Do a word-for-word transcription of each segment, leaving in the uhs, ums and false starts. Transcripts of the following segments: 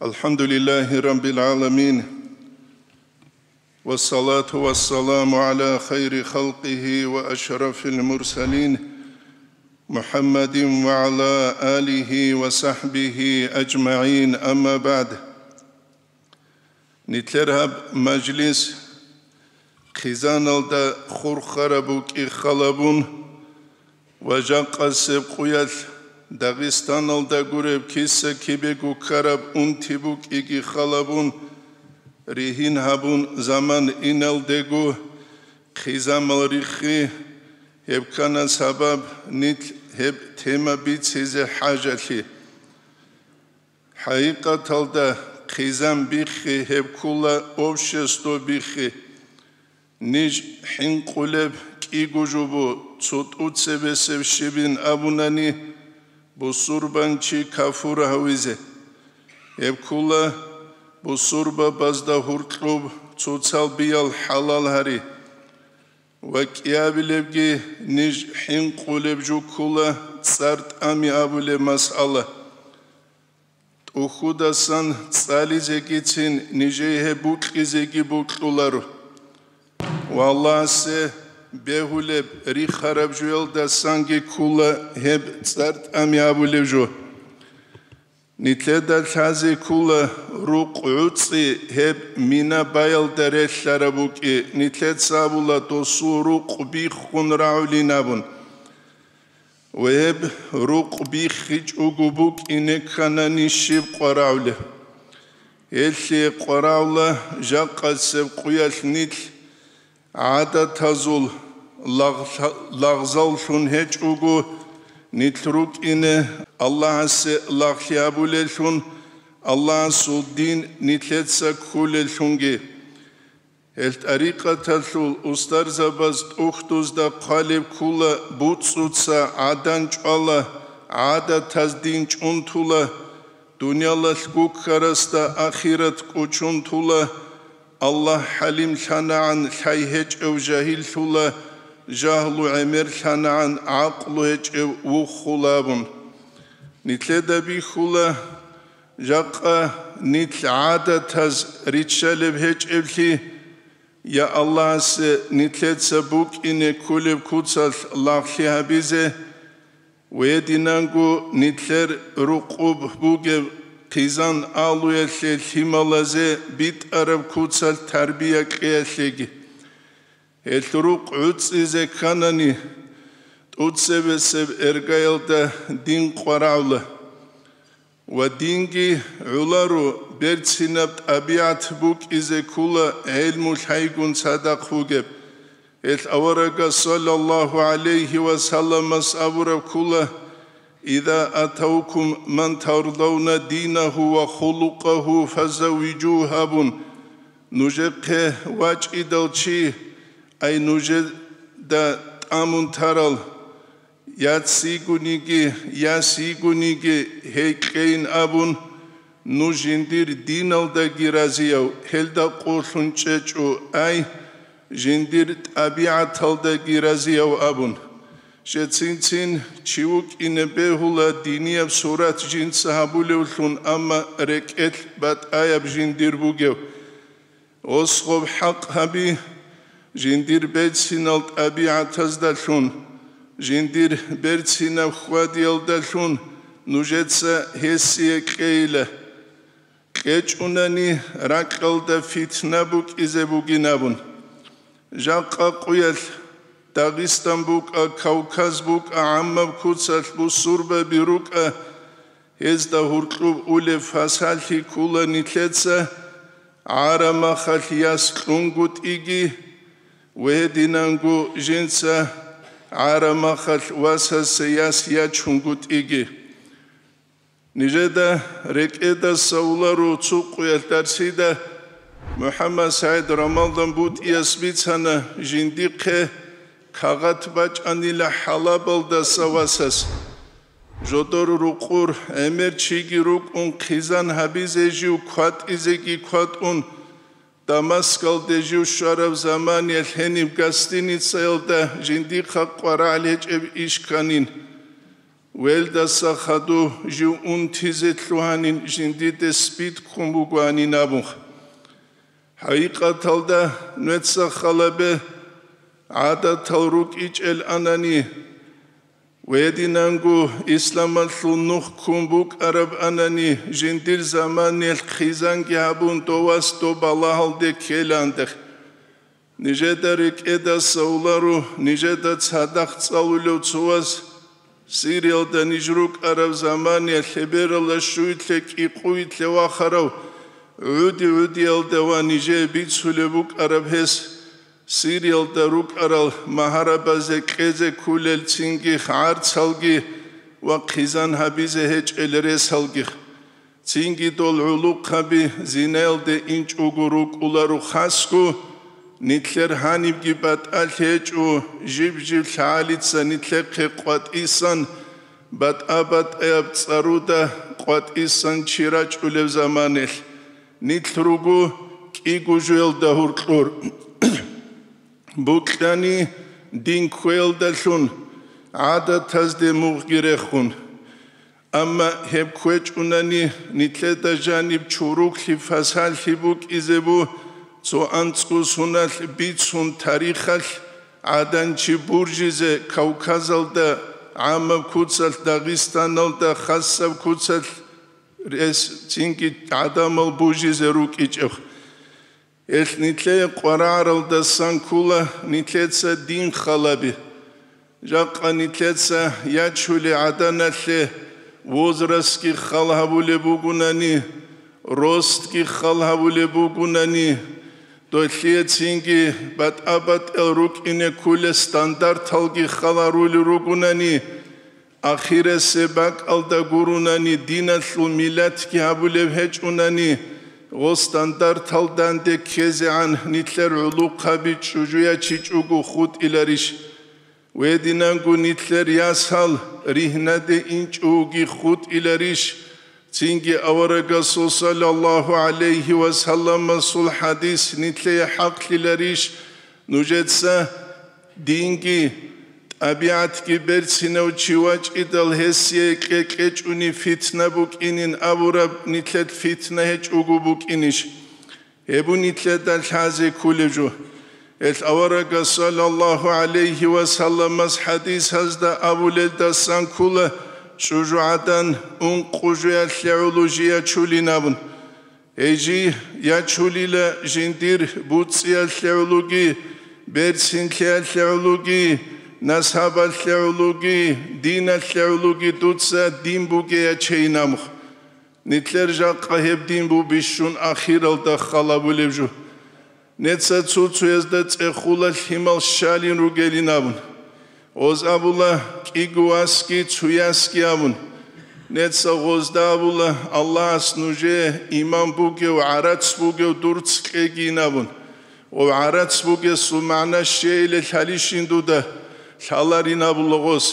الحمد لله رب العالمين، والصلاة والسلام على خير خلقه وأشرف المرسلين، محمد وعلى آله وصحبه أجمعين، أما بعد. Нилъер гьаб мажлис хъизаналда хурхараб букӀи халабун ва жакъасеб къуялъ Дагъистаналда гуреб киса-кибего ккараб унти букӀиги халабун, ригьин гьабун заман иналдего хъизамал риххи, гьеб ккана сабаб нилъ гьеб тема бицизе хӀажалъи. ХӀакъикъаталда хъизан биххи гьеб ккула общество биххи. Ниж хӀинкъулеб кӀиго жубу цо тӀуцебесеб щибин абунани, бусурбанчи кафур гьавизе. Гьеб ккула бусурбабазда гьуркьуб цоцал биял хӀалал гьари. Ва кӀиабилебги ниж хӀинкъулеб жо ккула цӀар тӀами абулеб масъала. ТӀухьудасан цӀализегицин нижее гьеб букьизеги букьуларо. Ва Аллагьасе бегьулеб рихараб жоялдасанги ккула гьеб цӀар тӀами абулеб жо. Нилъеда лъазе ккула рукъ гӀуцӀи гьеб мина баялда релълъараб букӀи, нилъеца абула досул рукъ биххун рагӀулин абун. Ва гьеб рукъ биххичӀого букӀине кканани щиб къварагӀулеб? Гьелъие къварагӀула жакъасеб къуялъ нилъ гӀадатазул лагъ-, лагъзаллъун гьечӀого, нилъ рукӀине Аллагьасе лагълъи гьабулеллъун, Аллагьасул дин нилъеца кколеллъунги. Гьел тӀарикъаталъул устарзабаз тӀухьдузда хъвалеб ккула буцӀцӀуца гӀадан чӀвала, гӀадатаз дин чӀунтула, дуниялалъ гуккарасда ахират кӀучунтула, Аллагь хӀалимлъанагӀан лъай гьечӀев жагьиллъула, жагьлу гӀемерлъанагӀан гӀакълу гьечӀев вуххула абун. Нилъеда бихьула, жакъа нилъ гӀадатаз риччалеб гьечӀеблъи, я Аллагьасе нилъеца букӀине кколеб куцалъ лагълъи гьабизе, ва гьединанго нилъер рукъуб бугеб хъизан алуялъе лъималазе битӀараб куцалъ тарбия кьеялъеги. Гьелъ рукъ гӀуцӀизе кканани, тӀуцебесеб эргаялда дин къварагӀула. Ва динги гӀоларо берцинаб тӀабигӀат букӀизе ккула гӀелму лъайгун цадахъ бугеб. Гьелъ аварагас саллаллагьу гӀалайгьи ва салламас абураб ккула: «Иза атавкум ман тардавна динагьу ва хулукъагьу фазаввижугьу», – абун, нужехъе вачӀидал чи, ай нужеда тӀамун тарал, яц йигониги, яс йигониги гьей кьейин абун, нуж жиндир диналдаги разияв, гьелда къуллъун чӀечӀо, ай, жиндир тӀабигӀаталдаги разияв абун. Щецин-цин чи вукӀине бегьула динияб сурат жинца гьабулевлъун, амма рекӀелъ батӀаяб жиндир бугев. Осгъоб хӀакъ гьаби жиндир берцинал тӀабигӀатаздалъун, жиндир берцинаб хьвадиялдалъун нужеца гьесие кьейила. КьечӀунани ракьалда фитна букӀизе бугин абун. Жакъа къуялъ Дагъистан букӀа, Кавказ букӀа, гӀаммаб куцалъ бусурбаби рукӀа, гьезда гьуркьуб улеб фасалъи ккула нилъеца, гӀарамахалъ яс кьунгутӀиги, ва гьединанго жинца гӀарамахалъ васасе яс ячунгутӀиги. Нижеда рекӀедаса улару цо къуялъ дарсида МухӀаммад СагӀид Рамалдан БутӀияс бицана жиндихъе кагъат бачӀанила ХӀалабалдаса васас. Жодор рукъур гӀемер чиги рукӀун хъизан гьабизе жив кватӀизеги кватӀун, Дамаскалде жив щвараб заманиялъ гьениб гостиницаялда жиндихъа къварагӀел гьечӀеб иш кканин. Велдаса хадув жив унтизе лъугьанин жиндиде СПИД ккун бугоанин абун. ХӀакъикъаталда нуеца халабе гӀадатал рукӀичӀел анани, гьединанго исламалъул нух ккун букӀараб анани, жиндир заманиялъ хъизанги гьабун довас доб балагьалде ккеландехъ. Нижеда рекӀедаса уларо, нижеда цадахъ цӀалулев цо вас Сириялда ниж рукӀараб заманиялъ лъебералда щуйлъе кӀикъуйлъе вахарав гӀуди-гӀудиялда ва нижее бицулеб букӀараб гьес, Сириялда рукӀарал магьарабазе кьезе кколел цинги гӀарцалги ва хъизан гьабизе гьечӀел ресалги. Цинги дол гӀулухъаби зинаялде инчӀого рукӀуларо хасго, нилъер гьанибги батӀалъи гьечӀо, жиб-жиб лъагӀалица нилъехъе къватӀисан, батӀа-батӀаяб цӀаруда къватӀисан чи рачӀулеб заманалъ, нилъ руго кӀиго жоялда гьоркьор. Букьани дин кквеялдалъун, гӀадатазде мугъги рехун. Амма гьеб кквечӀунани, нилъеда жаниб чуруклъи-фасалъи букӀизе бу, цо анцӀго суналъ бицун тарихалъ гӀаданчи буржизе Кавказалда, гӀаммаб куцалъ Дагъистаналда, хасаб куцалъ рес цинги гӀадамал бужизе рукӀичӀеб. Гьелъ нилъее къварагӀаралдасан ккола нилъеца дин халаби. Жакъа нилъеца ячулей гӀаданалъе возрастги хал гьабулеб бугунани, ростги хал гьабулеб бугунани, долъие цинги батӀа-батӀел рукӀине кколел стандарталги хал гьарулел ругунани, ахирасеб бакӀалда гурунани, диналъул миллатги гьабулеб гьечӀунани, гъол стандартал данде ккезегӀан нилъер гӀулухъаби чӀужуячичӀого хутӀиларищ? Гьединанго нилъер ясал ригьнаде инчӀоги хутӀиларищ? Цинги аварагасул саллаллагьу гӀалайгьи ва салламасул хӀадис нилъее хӀакълъиларищ? Нужеца динги тӀабигӀатги берцинав чи вачӀидал гьесие кьекьечӀони фитна букӀинин абураб нилъер фитна гьечӀого букӀинищ? Гьеб нилъеда лъазе кколеб жо. Гьелъ аварагас саллаллагьу гӀалайгьи ва салламас хӀадисазда абулелдасан ккола чӀужугӀадан ункъо жоялъе гӀоло жий ячулин абун. Гьей жий ячулила жиндир буцӀиялъе гӀологи, берцинлъиялъе гӀологи, насабалъе гӀологи, диналъе гӀологи дуца дин бугей ячейин абун. Нилъер жакъа гьеб дин бу бищун ахиралда халабулеб жо. Неца цо-цоязда цӀехула лъимал щалин ругелин абун. Гъоз абула кӀиго васги цо ясги абун. Неца гъозда абула Аллагьас нужее иман бугев, гӀарац бугев дурц кьегин абун. Гъов гӀарац бугесул магӀна щейиле лъалищин дуда, лъаларин абула гъос.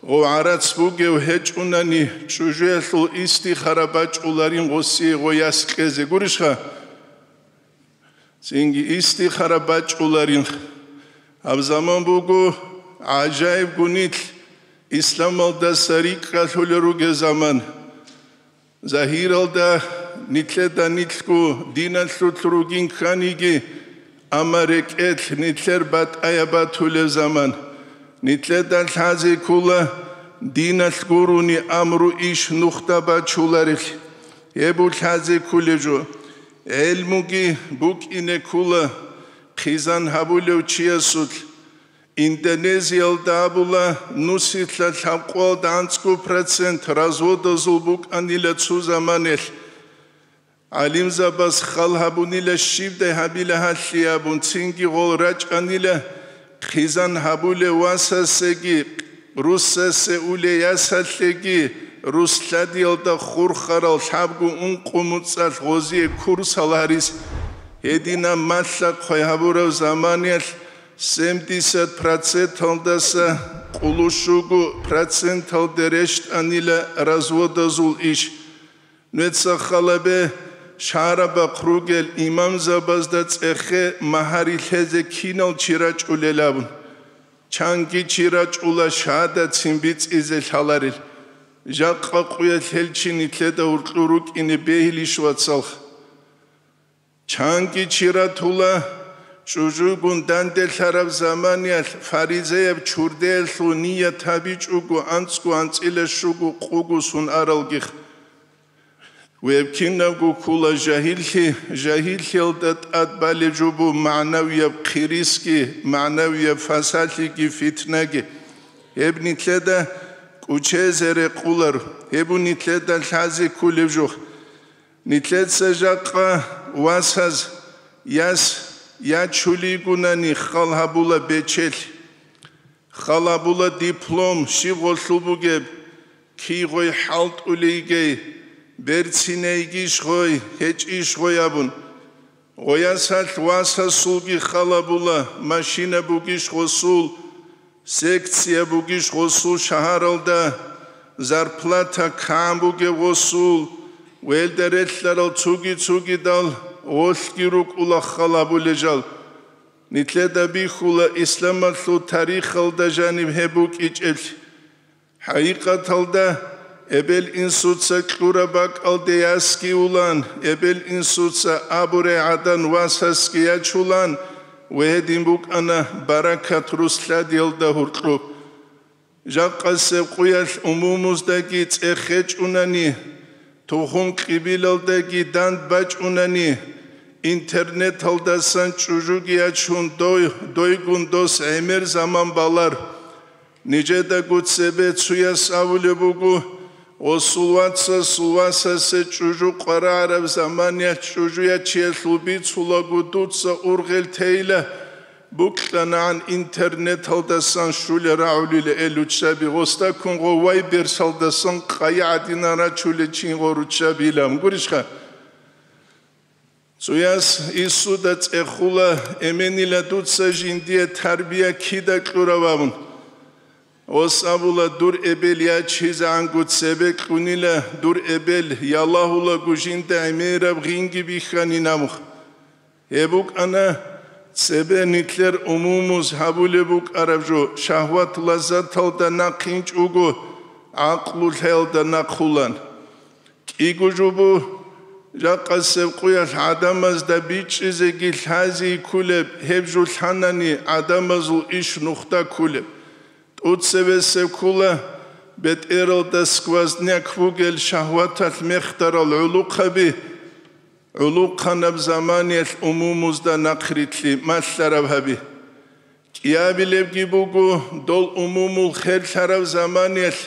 Гъов гӀарац бугев гьечӀунани, чӀужуялъул истихара бачӀуларин гъосие гъой яс кьезе гурищха? Цинги истихара бачӀуларин. Гьаб заман буго гӀажаибго нилъ исламалдаса рикӀкӀалъулел ругел заман. Загьиралда нилъеда нилъго диналъулъ ругин кканиги, амма рекӀелъ нилъер батӀаяб батулеб заман. Нилъеда лъазе ккола диналъ гурони амру иш нухда бачуларелъ. Гьеб лъазе кколеб жо. ГӀелмуги букӀине ккола хъизан гьабулев чиясулъ. Индонезиялда абула, нусилъа лъабкъоялда анцӀго процент разводазул букӀанила цо заманалъ. ГӀалимзабаз хал гьабунила щибдай гьабила гьалъи абун, цинги гъол рачӀанила хъизан гьабулев васасеги, руссасе улей ясалъеги, рус лъадиялда хурхарал лъабго ункъо муцӀалъ гъозие курсал гьарис. Гьединаб малъа-хъвай гьабурав заманиялъ семдесят проценталдаса къулущуго проценталде рещтӀанила разводазул иш. Нуеца халабе шагьарабахъ ругел имамзабазда цӀехе магьари лъезе кинал чи рачӀулел абун. Чанги чи рачӀула шагьадатцин бицӀизе лъаларел. Жакъа къуялъ гьел чи нилъеда гьуркьур рукӀине бегьилищ, вацалха? Чанги чи ратула, чӀужугун данделъараб заманиялъ фаризеяб чурдеялъул ният гьабичӀого анцӀго анцӀила щуго къуго сун аралгих. Веб кинабго ккула жагьиллъи, жагьиллъиялда тӀад балеб жо буго магӀнавияб хъирисги, магӀнавияб фасалъиги, фитнаги. Гьеб нилъеда кӀучезе рекъоларо, гьеб буго нилъеда лъазе кколеб жо. Нилъеца жакъа васаз яс ячулейгунани хал гьабула бечелъ. Хал гьабула диплом щиб гъолъул бугеб, кигъой хӀалтӀулейгей, берцинейгищ гъой, гьечӀищ гъой абун. Гъоясалъ васасулги хал гьабула, машина бугищ гъосул, секция бугищ гъосул шагьаралда, зарплата кан бугеб гъосул, велда релълъарал цуги-цугидал гъолъги рукӀула хал гьабулел жал. Нилъеда бихьула исламалъул тарихалда жаниб гьеб букӀичӀеблъи. ХӀакъикъаталда, эбел-инсуца кьураб бакӀалде ясги улан, эбел-инсуца абурай гӀадан васасги ячулан, ва гьедин букӀана баракат рус лъадиялда гьуркьуб. Жакъасеб къуялъ умумуздаги цӀех гьечӀунани, тухум-кьибилалдаги данд бачӀунани, интернеталдасан чӀужуги ячун дой, дойгун дос гӀемер заман балар. Нижедаго цебе цуяс абулеб буго, гъосул вацасул васасе чӀужу къварагӀараб заманиялъ чӀужуячиялъул бицулаго дуца ургъел тейила, букьанагӀан интернеталдасан щулел рагӀулел руччаби, гъосда ккун гъов вайберсалдасан къайи гӀадинан рачулел чин гъов руччабилан. Гурищха? Цуяс инсуда цӀехула, эменила дуца жиндие тарбия кида кьурав абун. Гъос абула, дур эбел ячизегӀанго цебе кьунила, дур эбел ялагьулаго жинда гӀемераб гъинги бихьанин абун. Гьеб букӀана цебе нилъер умумуз гьабулеб букӀараб жо, шагьват-лаззаталда нахъинчӀого, гӀакълу лъаялда нахъулан. КӀиго жо буго, жакъасеб къуялъ гӀадамазда бичӀчӀизеги лъази кколеб, гьеб жо лъанани гӀадамазул иш нухда кколеб. ТӀуцебесеб ккула бетӀералда сквозняк бугел шагьваталъ мехтарал гӀулухъаби, гӀулухъанаб заманиялъ умумузда нахърилълъи малъараб гьаби. КӀиабилебги буго, дол умумул херлъараб заманиялъ,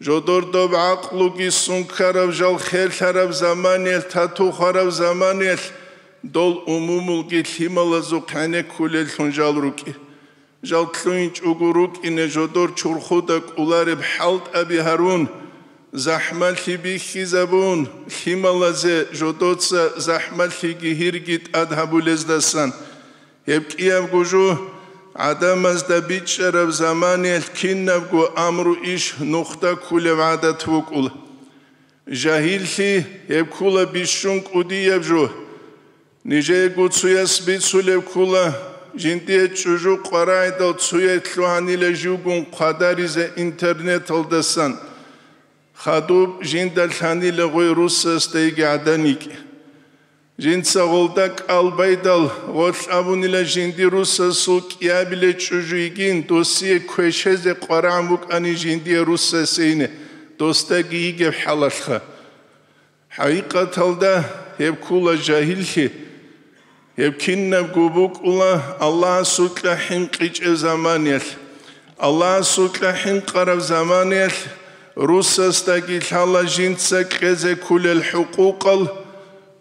жодор доб гӀакълуги сункараб жал херлъараб заманиялъ, тату хвараб заманиялъ, дол умумулги лъималазухъ гӀенеккулеллъун жал рукӀи. Жал лъугьинчӀого рукӀине жодор чурхуда кӀолареб хӀалтӀаби гьарун, захӀмалъи бихьизабун, лъималазе жодоца захӀмалъиги гьирги тӀад гьабулездасан. Гьеб кӀиябго жо гӀадамазда бичӀчӀараб заманиялъ кинабго амру иш нухда ккулеб гӀадат букӀула. Жагьиллъи гьеб ккула бищун кӀудияб жо. Нижеего цуяс бицулеб ккула, жиндие чӀужу къварагӀидал цуяй лъугьанила живгун хъвадаризе интернеталдасан. Хадуб жинда лъанила гъой русасдайги гӀадан йикӀи. Жинца гъолда кӀал байдал, гъолъ абунила жинди русасул кӀиабиле чӀужу йигин, досие квешезе къварагӀун букӀани жиндие русасейне, досдаги йигеб хӀалалъха. ХӀакъикъаталда гьеб ккула жагьиллъи. Гьеб кинабго букӀула Аллагьасукьа хӀинкъичӀеб заманиялъ. Аллагьасукьа хӀинкъараб заманиялъ русасдаги лъала жинца кьезе ккулел хӀукъукъал,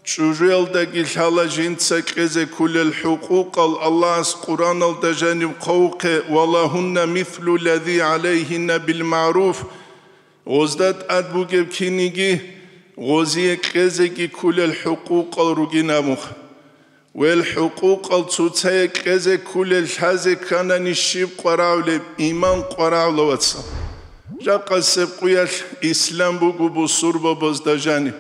чӀужуялдаги лъала жинца кьезе ккулел хӀукъукъал. Аллагьас Къуръаналда жаниб хъвавухъе: «Ва лагьунна мислу лази гӀалайгьинна бил магӀруф». Гъозда тӀад бугеб киниги гъозие кьезеги ккулел хӀукъукъал ругин абун. Вел хӀукъукъал цоцае кьезе ккулел лъазе кканани щиб къварагӀулеб, иман къварагӀула, вацал. Жакъасеб къуялъ ислам буго бусурбабазда жаниб.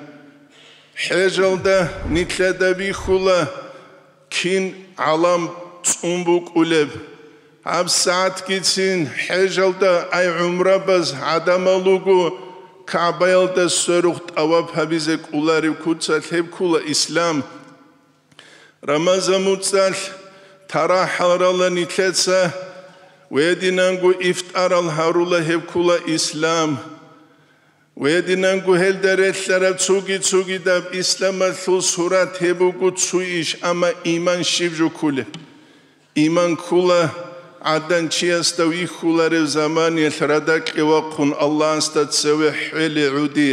ХӀежалда нилъеда бихьула, кин гӀалам цӀун букӀулеб. ГьабсагӀатгицин хӀежалда ай гӀумрабаз гӀадамал руго, КагӀбаялда сверухъ тӀаваф гьабизе кӀоларев куцалъ гьеб ккола ислам. Рамазан муцӀалъ тарахӀал рала нилъеца, гьединанго ифтарал гьарула гьеб ккола ислам. Гьединанго гьелда релълъараб цоги-цогидаб исламалъул сурат гьеб буго цо иш, амма иман щиб жо кколеб? Иман ккола гӀадан чиясда вихьуларев заманиялъ радакье вахъун Аллагьасда цеве хӀвеле гӀуди.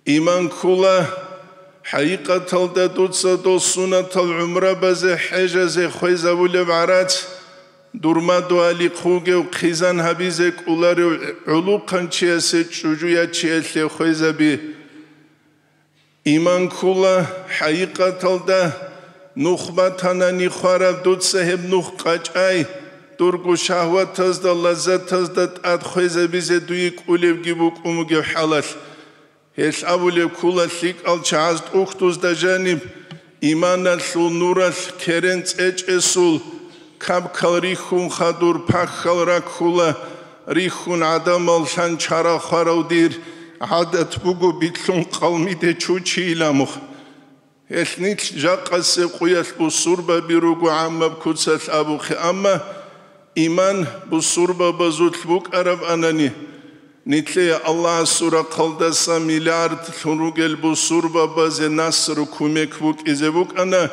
Иман ккола, хӀакъикъаталда дуца дол сунатал гӀумрабазе, хӀежазе хвезабулеб гӀарац, дур мадугьалихъ вугев хъизан гьабизе кӀоларев гӀулухъанчиясе чӀужу ячиялъе хвезаби. Иман ккола, хӀакъикъаталда нух батанани хвараб дуца гьеб нух къачӀай, дурго шагьватазда, лаззатазда тӀад хвезабизе дуе кӀолебги букӀун бугеб хӀалалъ. Гьелъ абулеб ккола лъикӀал чагӀаз тӀухьдузда жаниб иманалъул нуралъ керен цӀечӀесул, кабкал рихьун хадур пахьал раккула, рихьун гӀадамал лъан чара хварав дир гӀадат буго битлъун къалмиде чучийиламухъ. Гьелъ нилъ жакъасеб къуялъ бусурбаби руго гӀаммаб куцалъ абухъе, амма иман бусурбабазулъ букӀараб анани, нилъее Аллагьасул рахъалдаса миллиардлъун ругел бусурбабазе насру кумек букӀизе букӀана,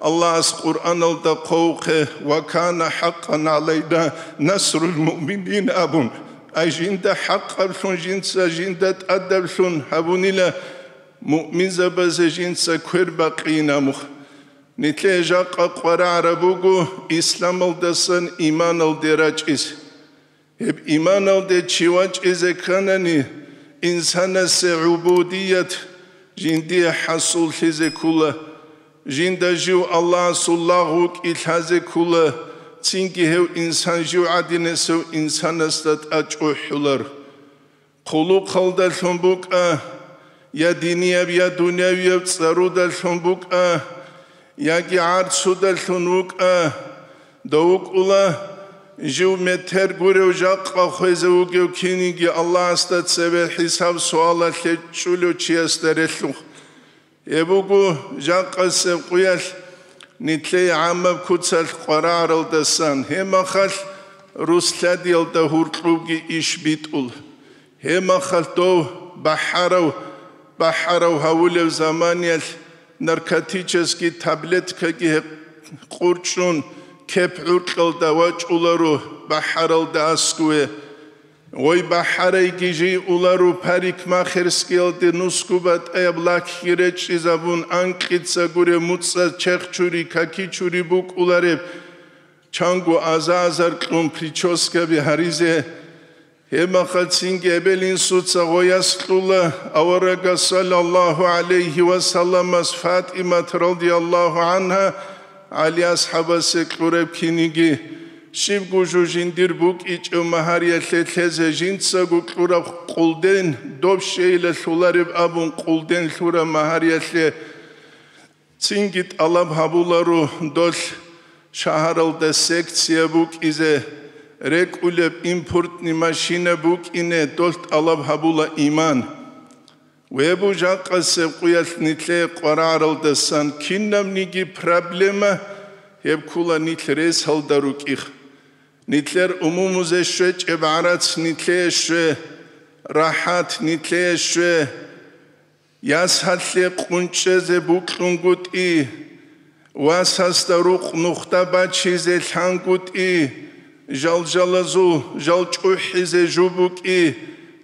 Аллагьас Къуръаналда хъвавухъе: «Ва кана хӀакъан гӀалайна насрул муъминин», – абун. Ай жинда хӀакъаблъун жинца жинда тӀадаблъун гьабунила муъминзабазе жинца квер бакъинамухъ. Нилъее жакъа къварагӀараб буго исламалдасан иманалде рачӀиз. Гьеб иманалде чи вачӀизе кканани, инсанасе гӀубудият жиндие хӀасуллъизе ккула, жинда жив Аллагьасул лагъ вукӀин лъазе ккула, цинги гьев инсан жив гӀадинасев инсанасда тӀад чӀухӀулар. Хъулухъалдалъун букӀа, я динияб, я дунявияб цӀарудалъун букӀа, яги гӀарцудалъун вукӀа, дов вукӀула, жив метер гурев жакъа хвезе вугев киниги Аллагьасда цеве хӀисаб-суалалъе чӀулев чиясда релълъухъ. Гьеб буго жакъасеб къуялъ нилъее гӀаммаб куцалъ къварагӀаралдасан, гьебмахалъ руслъадиялда гьуркьубги иш битӀул. Гьебмахалъ дов бахӀарав, бахӀарав гьавулев заманиялъ наркотический таблеткаги гьекъурчӀун кеп гӀуркьалда вачӀуларо бахӀаралда аскӀове. Гъой бахӀарайги жий улару парикмахерскиялде нусгу батӀаяб лакги речӀчӀизабун, анкьица гуреб муцӀа чехчури, какичури букӀулареб, чанго аза-азар кьун прическаби гьаризе. Гьебмахалъ цинги эбел-инсуца гъояс кьула, аварагас саллаллагьу гӀалайгьи ва салламас ФатӀимат радияллагьу гӀангьа ГӀали асхӀабасе кьураб киниги, щибго жо жиндир букӀичӀев магьариялъе лъезе жинцаго кьураб къулден, доб щейила лъулареб абун къулден лъураб магьариялъе цинги тӀалаб гьабуларо долъ шагьаралда секция букӀизе, рекӀулеб импортный машина букӀине долъ тӀалаб гьабула иман. Гьеб буго жакъасеб къуялъ нилъее къварагӀаралдасан кинабниги проблема, гьеб ккула нилъ ресалда рукӀихъ. Нилъер умумузе щвечӀеб гӀарац нилъее щве, рахӀат нилъее щве, ясалъе къунчӀезе букьунгутӀи, васасда рукъ нухда бачизе лъангутӀи, жалжалазул жал чӀухӀизе жубукӀи,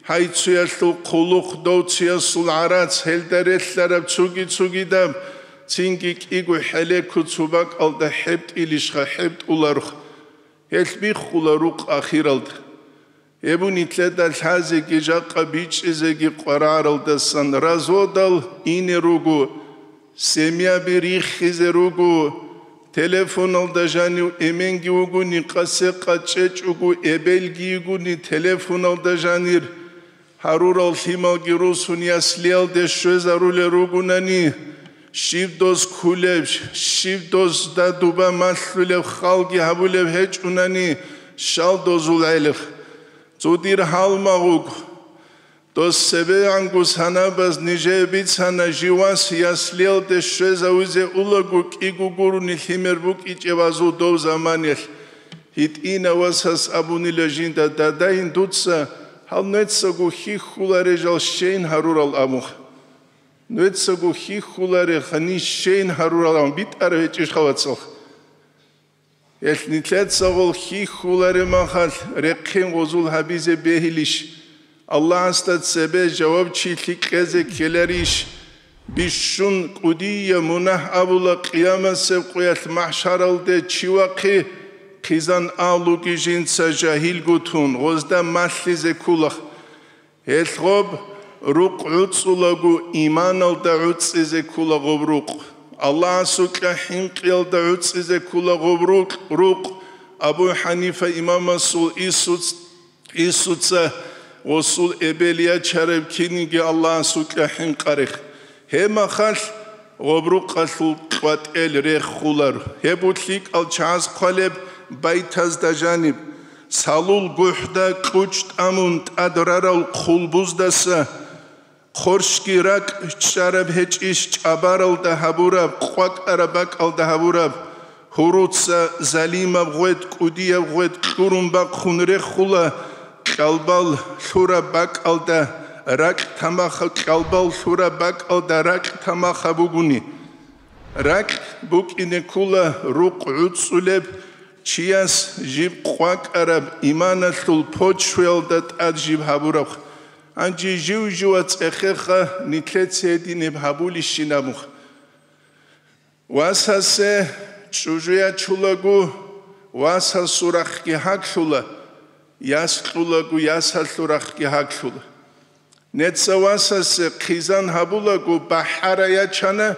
гьайцуялъул хъулухъ довциясул гӀарац гьелда релълъараб цуги-цугидаб, цинги кӀиго хӀелеко цо бакӀалда хӀебтӀилищха хӀебтӀуларухъ, гьелъ биххула рукъ ахиралда. Гьеб нилъеда лъазеги жакъа бичӀчӀизеги къварагӀаралдасан разводал ине руго, семьяби риххизе руго, телефоналда жанив эменги вугони, къасе-къачӀечӀого эбелги йигони, телефоналда жанир гьарурал лъималги русун яслиялде щвезарулел ругонани, щиб доз ккулеб, щиб дозда дуба малъулеб халги гьабулеб гьечӀунани, щал дозул гӀелихъ. Цо дир гьалмагъ вуго. Дос цебегӀанго санабаз нижее бицана, жив вас яслиялде щвезавизе улаго кӀиго гурони лъимер букӀичӀеб азул дов заманиялъ. ГьитӀина васас абунила жинда: «Дадайин, дуца гьал нуецаго хьихьуларе жал щейин гьарурал», – абун. Нуецаго хьихьуларе гьанин щейин гьарурал абун битӀараб гьечӀищха, вацал? Гьелъ нилъеца гъол хьихьуларе махалъ рехъин гъозул гьабизе бегьилищ? Аллагьасда цебе жавабчилъи кьезе ккеларищ? Бищун кӀудияб мунагь абула къиямасеб къоялъ махӀшаралде чи вахъи, хъизан агьлуги жинца жагьилго тун, гъозда малъизе ккула. Гьелъ гъоб рукъ гӀуцӀулаго, иманалда гӀуцӀизе ккула гъоб рукъ. Аллагьасукьа хӀинкъиялда гӀуцӀизе ккула гъоб рукъ, рукъ. Абу ХӀанифа имамасул Исуц-, Исуца гъосул эбел ячараб киниги Аллагьасукьа хӀинкъарех. Гьеб махалъ гъоб рукъалъул къватӀел реххулар. Гьеб лъикӀал чагӀаз хъвалеб байтазда жаниб: «Салул гухӀда кьучӀ тӀамун тӀад рарал хъулбуздаса, хъорщги ракӀ чӀараб гьечӀищ чӀабаралда гьабураб, къвакӀараб бакӀалда гьабураб, гьуруца залимаб гъвет, кӀудияб гъвет кьурун бахъун реххула, кьалбал лъураб бакӀалда ракь тамахаб, кьалбал лъураб бакӀалда ракь тамахаб бугони». РакӀ букӀине ккула рукъ гӀуцӀулеб чияс жиб къвакӀараб иманалъул почваялда тӀад жиб гьабураб. Гьанже жив-жива цӀехеха, нилъеца гьединаб гьабулищин абун. Васасе чӀужу ячулаго, васасул рахъги гьаглъула, яс кьулаго, ясалъул рахъги гьаглъула. Неца васасе хъизан гьабулаго, бахӀара ячана,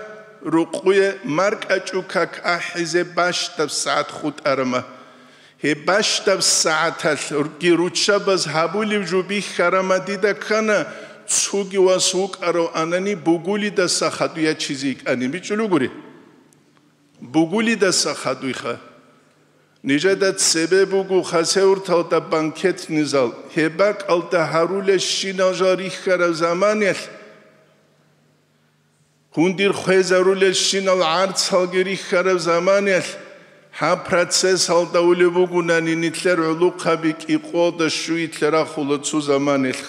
рукъуе маркӀачӀу как ахӀизе бащдаб сагӀат хутӀарама. Гьеб бащдаб сагӀаталъги руччабаз гьабулеб жо бихьарама дида ккана, цоги вас вукӀарав анани бугулидаса хадуй ячизе йикӀани бичӀчӀулугури. Бугулидаса хадуйха. Нижеда цебе буго Хасавюрталда банкетный зал, гьеб бакӀалда гьарулелщинал жал рихьараб заманалъ, гьундир хвезарулелщинал гӀарцалги рихьараб заманалъ, гьаб процессалда улеб бугунани нилъер гӀулухъаби кӀикъоялда щуялъе рахула цо заманалъ.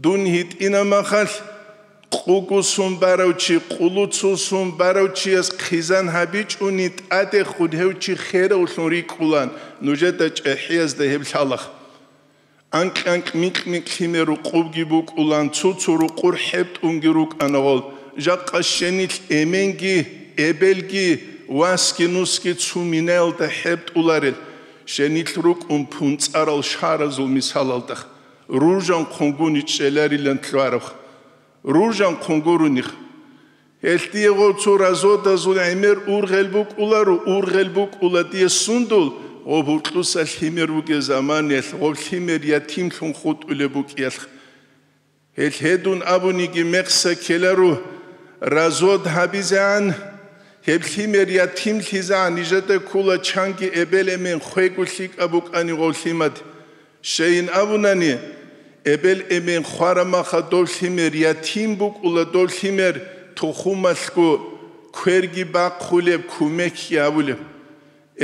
Дун гьитӀина махалъ, къугусун барав чи, къулуцусун барав чияс хъизан гьабичӀони тӀадехун гьев чи херавлъун рикӀкӀулан, нужеда чӀехӀиязда гьеб лъалаха. Анкь-анкь, микь-микь лъимер рукъубги букӀулан, цо-цо рукъур хӀебтӀунги рукӀана гъол. Жакъа щенилъ эменги, эбелги, васги-нусги цо минаялда хӀебтӀуларел, щенилъ рукӀун пунцӀарал шаразул мисалалда. Ружанхъун гуни чӀеларилан лъугьараб. Ружанхъун гурони. Гьелъ дие гъо цо разводазул гӀемер ургъел букӀуларо, ургъел букӀула дие сундул, гъо гьуркьуса лъимер вугев заманаялъ, гъо лъимер ятимлъун хутӀулеб букӀиялъ. Гьелъ гьедун абуниги мекъса ккеларо, развод гьабизегӀан, гьеб лъимер ятимлъизегӀан нижеда ккола чанги эбел-эмен хвего лъикӀаб букӀани гъо лъимад. Щайин абунани, эбел-эмен хварамаха дов лъимер ятим букӀула, дов лъимер тухумалъго кверги бахъулеб, кумекги гьабулеб.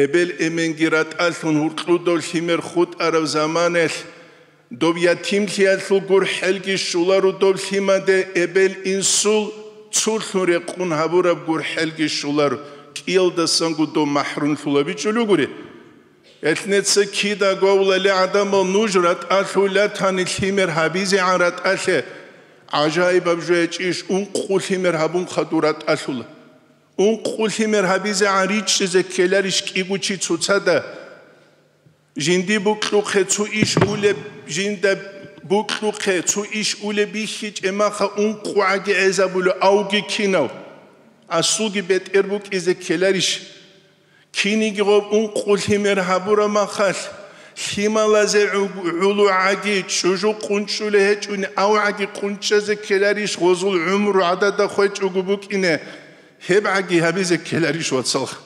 Эбел-эменги ратӀалъун гьуркьудав лъимер хутӀараб заманаялъ, дов ятимлъиялъул гурхӀелги щоларо дов лъимаде, эбел-инсул цулъун рекъун гьабураб гурхӀелги щоларо, кӀиялдасанго дов махӀрумлъула бичӀчӀулугури. Гьелъ неца кидаго авлали гӀадамал нуж ратӀалъулатани лъимер гьабизегӀан ратӀалъе, гӀажаибаб жо гьечӀищ, ункъо лъимер гьабун хадур ратӀалъула. Ункъо лъимер гьабизегӀан ричӀчӀизе ккеларищ кӀиго чи цоцазда? Жинди букьухъе цо иш улеб, жинда букьухъе цо иш улеб бихьичӀеб маха ункъо гӀаги гӀезабулев, авги кинав? Асулги бетӀер букӀизе ккеларищ? Киниги гъоб ункъо лъимер гьабура махалъ, лъималазе гӀу-, гӀулугӀаги чӀужу къунчӀулей гьечӀони, авгӀаги къунчӀазе ккеларищ гъозул гӀумру гӀадада хвечӀого букӀине, гьебгӀаги гьабизе ккеларищ, вацалха?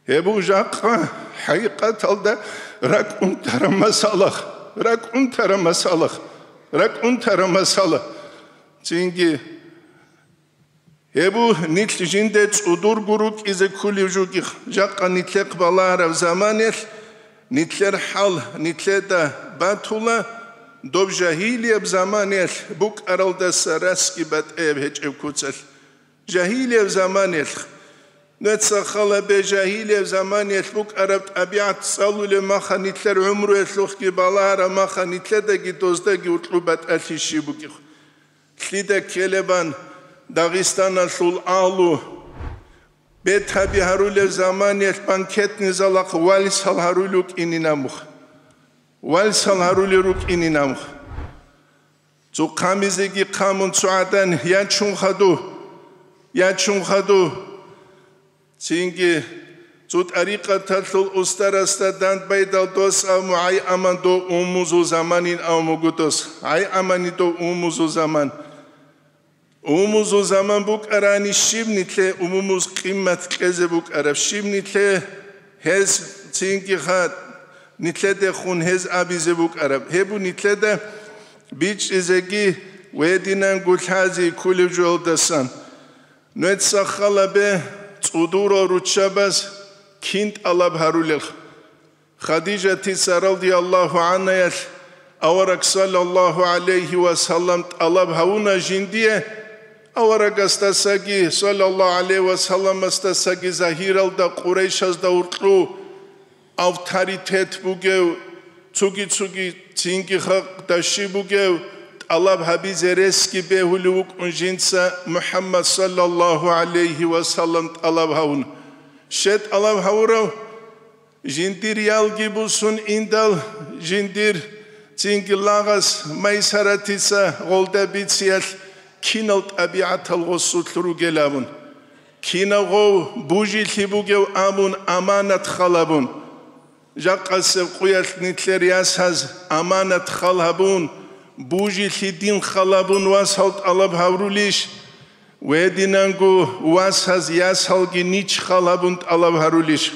Гьеб жакъа хӀакъикъаталда ракӀ унтараб масалах, ракӀ унтараб масалах. РакӀ унтараб масала. Цинги гьеб нилъ жинде цӀудурго рукӀизе кколеб жугихъ, жакъа нилъехъ балагьараб заманаялъ нилъер хӀал нилъеда батула, доб жагьилияб заманаялъ букӀаралдаса расги батӀияб гьечӀеб куцалъ. Жагьилияб заманаялъ. Нуца халабе жагьилияб заманаялъ букӀараб тӀабигӀат цӀалулеб маха нилъер гӀумруялъухъги балагьараб маха нилъедаги доздаги уркьуб батӀалъи щиб бугеб. Лъида ккелебан Дагъистаналъул агьлу бетаби гьарулеб заманаялъ банкетный залахъ вальсал гьарулев кӀинин амух. Вальсал гьарулел рукӀинин амух. Цо хъамизеги хъамун цо гӀадан: «Я чун хаду? Я чун хаду?» Цинги цо тӀарикъаталъул устарасда дандбайдал дос абун: «ГӀай аман дов умумузул заманин», абун буго дос. «ГӀай амани дов умумузул заман». Умумузул заман букӀарани, щиб нилъе умумуз къимат кьезе букӀараб, щиб нилъе гьез цинги ха-, нилъедехун гьез абизе букӀараб? Гьеб нилъеда бичӀчӀизеги ва гьединанго лъази кколеб жоялдасан. Нуца халабе цӀудурал руччабаз кин тӀалаб гьарулел? Хадижатица радияллагьу гӀанхаялъ авараг саллаллагьу гӀалайгьи ва саллам тӀалаб гьавуна жиндие, аварагасдасаги саллаллагьу гӀалайгьи ва салламасдасаги загьиралда Къурайшазда уркьу авторитет бугев, цуги-цуги цинги халкъ даши бугев, тӀалаб гьабизе ресги бегьулев вукӀун жинца МухӀаммад саллаллагьу гӀалайгьи ва саллам тӀалаб гьавуна. Щай тӀалаб гьавурав? Жиндир ялги бусун индал, жиндир цинги лагъас Майсаратица гъолда бициялъ кинал тӀабигӀатал гъосулъ ругел абун, кинав гъов бужилъи бугев абун аманат халабун. Жакъасеб къуялъ нилъер ясаз аманат хал гьабун, бужилъи дин халабун васал тӀалаб гьаврулищ? Вединанго васаз ясалги нич хал гьабун тӀалаб гьарулищ?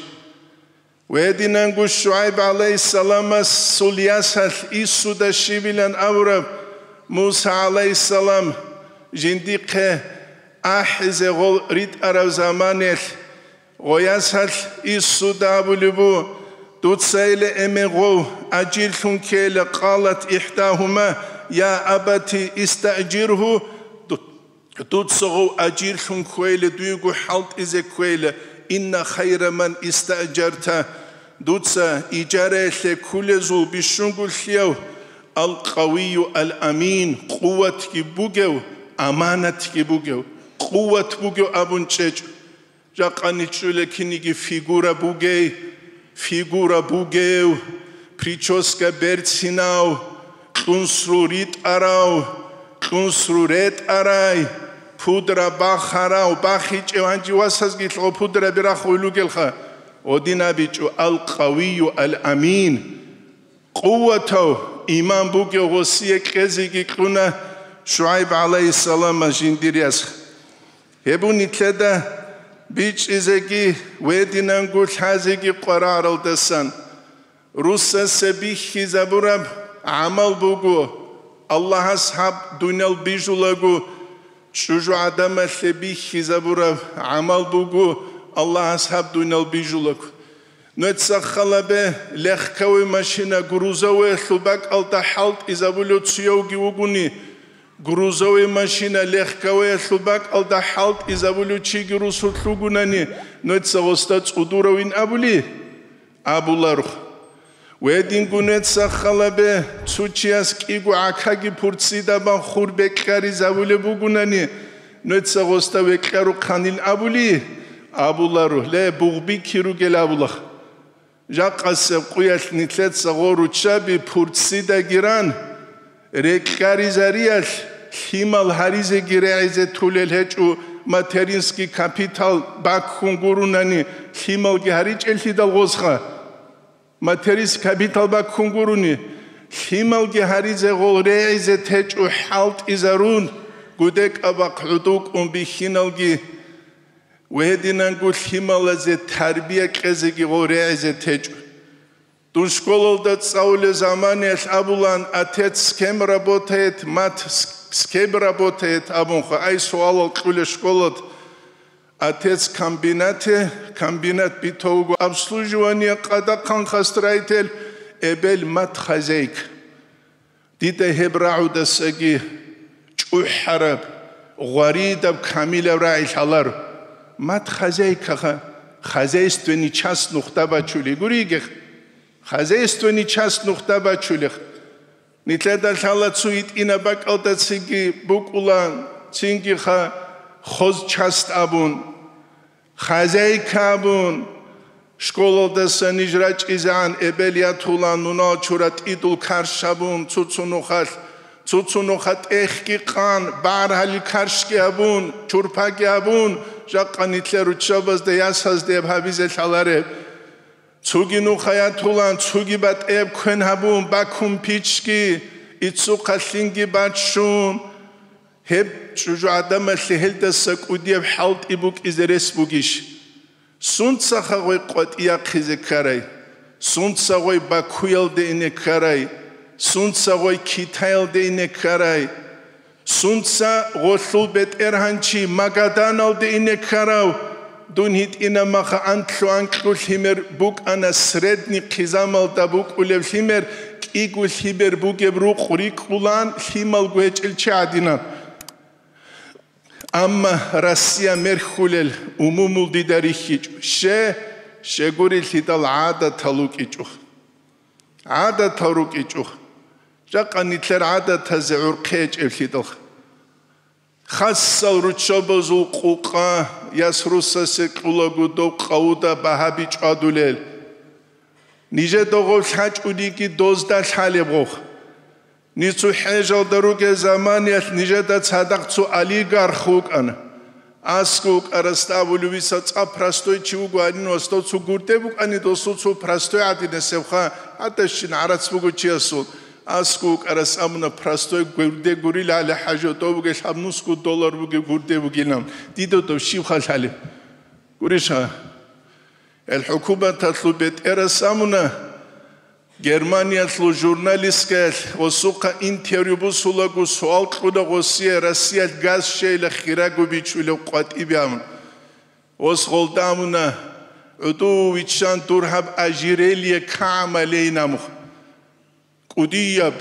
Гьединанго ШугӀайб гӀалайгьиссаламасул ясалъ Иссуда щибилан абураб Муса гӀалайгьиссалам жиндихъе ахӀизе гъол ритӀараб заманалъ, гъо ясалъ Иссуда абулеб бу: «Дуца иле эмен гъов ажирлъун ккейла». Къалат ихӀдагьума: «Я абати, истаъжиргьу». Дуца гъов ажирлъун кквейла, дуего хӀалтӀизе кквейла, «Инна хайра ман истаъжарта», дуца ижараялъе ккулезул бищунго лъияв, «Ал-къавийю ал-амин», къуватги бугев, аманатги бугев, къуват бугев абун чӀечӀо. Жакъа ничӀчӀула киниги фигура бугей, фигура бугев, прическа берцинав, кьунсру ритӀарав, кьунсру ретӀарай, пудра бахарав, бахичӀев, гьанже васазги лъо пудра бирахъулел ругелха, гъодин абичӀо: «Ал-къавийю ал-амин». Къуватав, иман бугев гъосие кьезеги кьуна ШугӀайб гӀалайгьиссаламас жиндир яс. Гьеб нилъеда бичӀчӀизеги, вединанго лъазеги къварагӀаралдасан. Русасе бихьизабураб гӀамал буго, Аллагьас гьаб дуниял бижулаго, чӀужугӀадамалъе бихьизабураб гӀамал буго, Аллагьас гьаб дуниял бижулаго. Нуца халабе легковой машина грузовоялъул бакӀалда хӀалтӀизабулев цуявги вугони, грузовой машина легковоялъул бакӀалда хӀалтӀизабулев чиги русулъ вугунани, нуца гъосда цӀудуравин абули? Абуларо. Гьединго нуца халабе цо чияс кӀиго гӀакаги пурццидабан хур бекьаризабулеб бугунани, нуца гъосда векьарухъанин абули? Абуларо, ле, бугъби киругел абулах. Жакъасеб къуялъ нилъеца гъо руччаби пурццидагиран, рекьаризариялъ лъимал гьаризеги регӀизе тулел гьечӀо, материнский капитал баккун гурунани лъималги гьаричӀеллъидал гъозха. Материнский капитал баккун гуруни, лъималги гьаризе гъол регӀизе течӀо хӀалтӀизарун, гудекӀабахъ гӀодов кӀун бихьиналги. Ва гьединанго лъималазе тарбия кьезеги гъо регӀизе течӀо. Дун школалда цӀалулел заманиялъ абулан: «Отец, с кем работает? Мать, с, с кем работает?» абунха. Ай суалал кьула школалъ: «Отец в комбинате, комбинат битӀа вуго обслуживание, къадахъанха строитель, эбел, мать хозяйка». Дида гьеб рагӀудасаги чӀухӀараб, гъваридаб, камилаб рагӀи лъаларо. Мать хозяйкаха, хозяйственный часть нухда бачулей гуриги, хозяйственный часть нухда бачулех. Нилъеда лъала цо гьитӀинаб бакӀалда цинги букӀула, цингиха хоз часть абун, хозяйка абун. Школалдаса ниж рачӀизегӀан эбел ятула, нунал чура тӀидул карш абун, цуцу нухалъ, цуцу нуха тӀехги къан, багӀаргьалил каршги абун, чурпаги абун, жакъа нилъер руччабазда, ясазда гьеб гьабизе лъалареб. Цуги нуха ятулан, цуги батӀияб квен гьабун, бакун пичги, иццухъа лъинги баччун, гьеб чӀужугӀадамалъе гьелдаса кӀудияб хӀалтӀи букӀизе рес бугищ? Сунцаха гъой къватӀияхъизе ккарай? Сунца гъой Бакуялде ине ккарай? Сунца гъой Китаялде ине ккарай? Сунца гъолъул бетӀергьанчи Магаданалде ине ккарав? Дун гьитӀина маха анлъу-анкьу лъимер букӀана, средний хъизамалда букӀулев лъимер, кӀиго лъимер бугеб рукъ рикӀкӀулан, лъималго гьечӀел чи гӀадинан. Амма Россия мерхьулел умумул дида рихьичӀо. Ще, щегурелъидал гӀадатал рукӀичӀо. ГӀадатал рукӀичӀо. Жакъа нилъер гӀадатазе гӀурхъи гьечӀеблъидал. Хасал руччабазул къукъа яс русасе кьулаго дов къавуда багьа бичӀчӀадулел. Нижеда гъов лъачӀулиги дозда лъалеб гъов. Ниж цо хӀежалда ругел заманиялъ нижеда цадахъ цо олигарх вукӀана. АскӀов вукӀарасда абулев виса цӀа простой чи вуго гьанин, васдав цо гурде букӀани, досул цо простой гӀадинасебха, гьадащин гӀарац буго чиясул. АскӀов вукӀарас абуна: «Простой гурде гурила гьале, хӀажо, дов бугел гьаб нусго доллар бугеб гурде бугилан, дида дов щибха лъалеб?» Гуриша? Гьел хӀукуматалъул бетӀерас абуна, Германиялъул журналисткаялъ гъосухъа интервью бусулаго суал кьуна гъосие Россиялъ газ щейила хирагу бичулев къватӀибе абун. Гъос гъолда абуна: «ГӀуду виччан дур гьаб ожерелье кагӀама лейин», амухъ. КӀудияб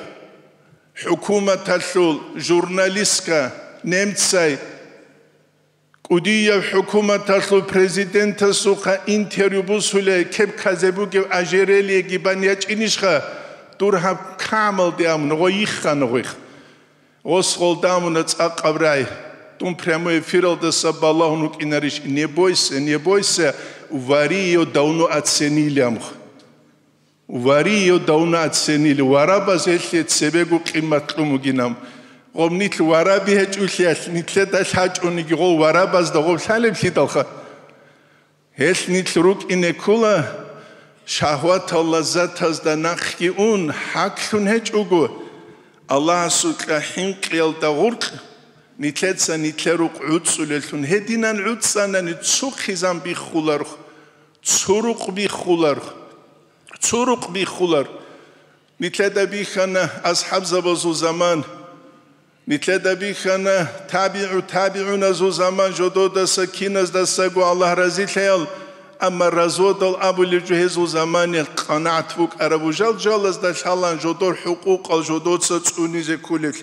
хӀукуматалъул журналистка немцай, кӀудияб хӀукуматалъул президентасухъа интервью бусулей кепказе бугев ожерельеги бан ячӀинищха, дур гьаб кагӀамалде амун, гъой йиххана гъойх. Гъос гъолда амуна цӀакъаб рагӀи. Дун прямой эфиралдаса балагьун вукӀинарищ: «Не бойся, не бойся, вари её давно оценили», амухъ. Вари её давно оценили, варабаз гьелъие цебего къимат кьун бугинан. Гъоб нилъ вараби гьечӀулъиялъ, нилъеда лъачӀониги гъов варабазда гъоб лъалеблъидалха. Гьелъ нилъ рукӀине ккола, шагьватал лаззатазда нахъги ун, хӀаклъун гьечӀого, Аллагьасукьа хӀинкъиялда гъуркь, нилъеца нилъер рукъ гӀуцӀулеллъун гьединан гӀуцӀанани цо хъизан биххуларх, цо рукъ биххуларх. Цо рукъ биххулар. Нилъеда бихьана асхӀабзабазул заман. Нилъеда бихьана табигӀу табигӀуназул заман, жододаса киназдасаго Аллагь разилъаял, амма разводал абулеб жо гьезул заманиялъ къанагӀат букӀараб, жал-жалазда лъалан жодор хӀукъукъал жодоца цӀунизе кколел.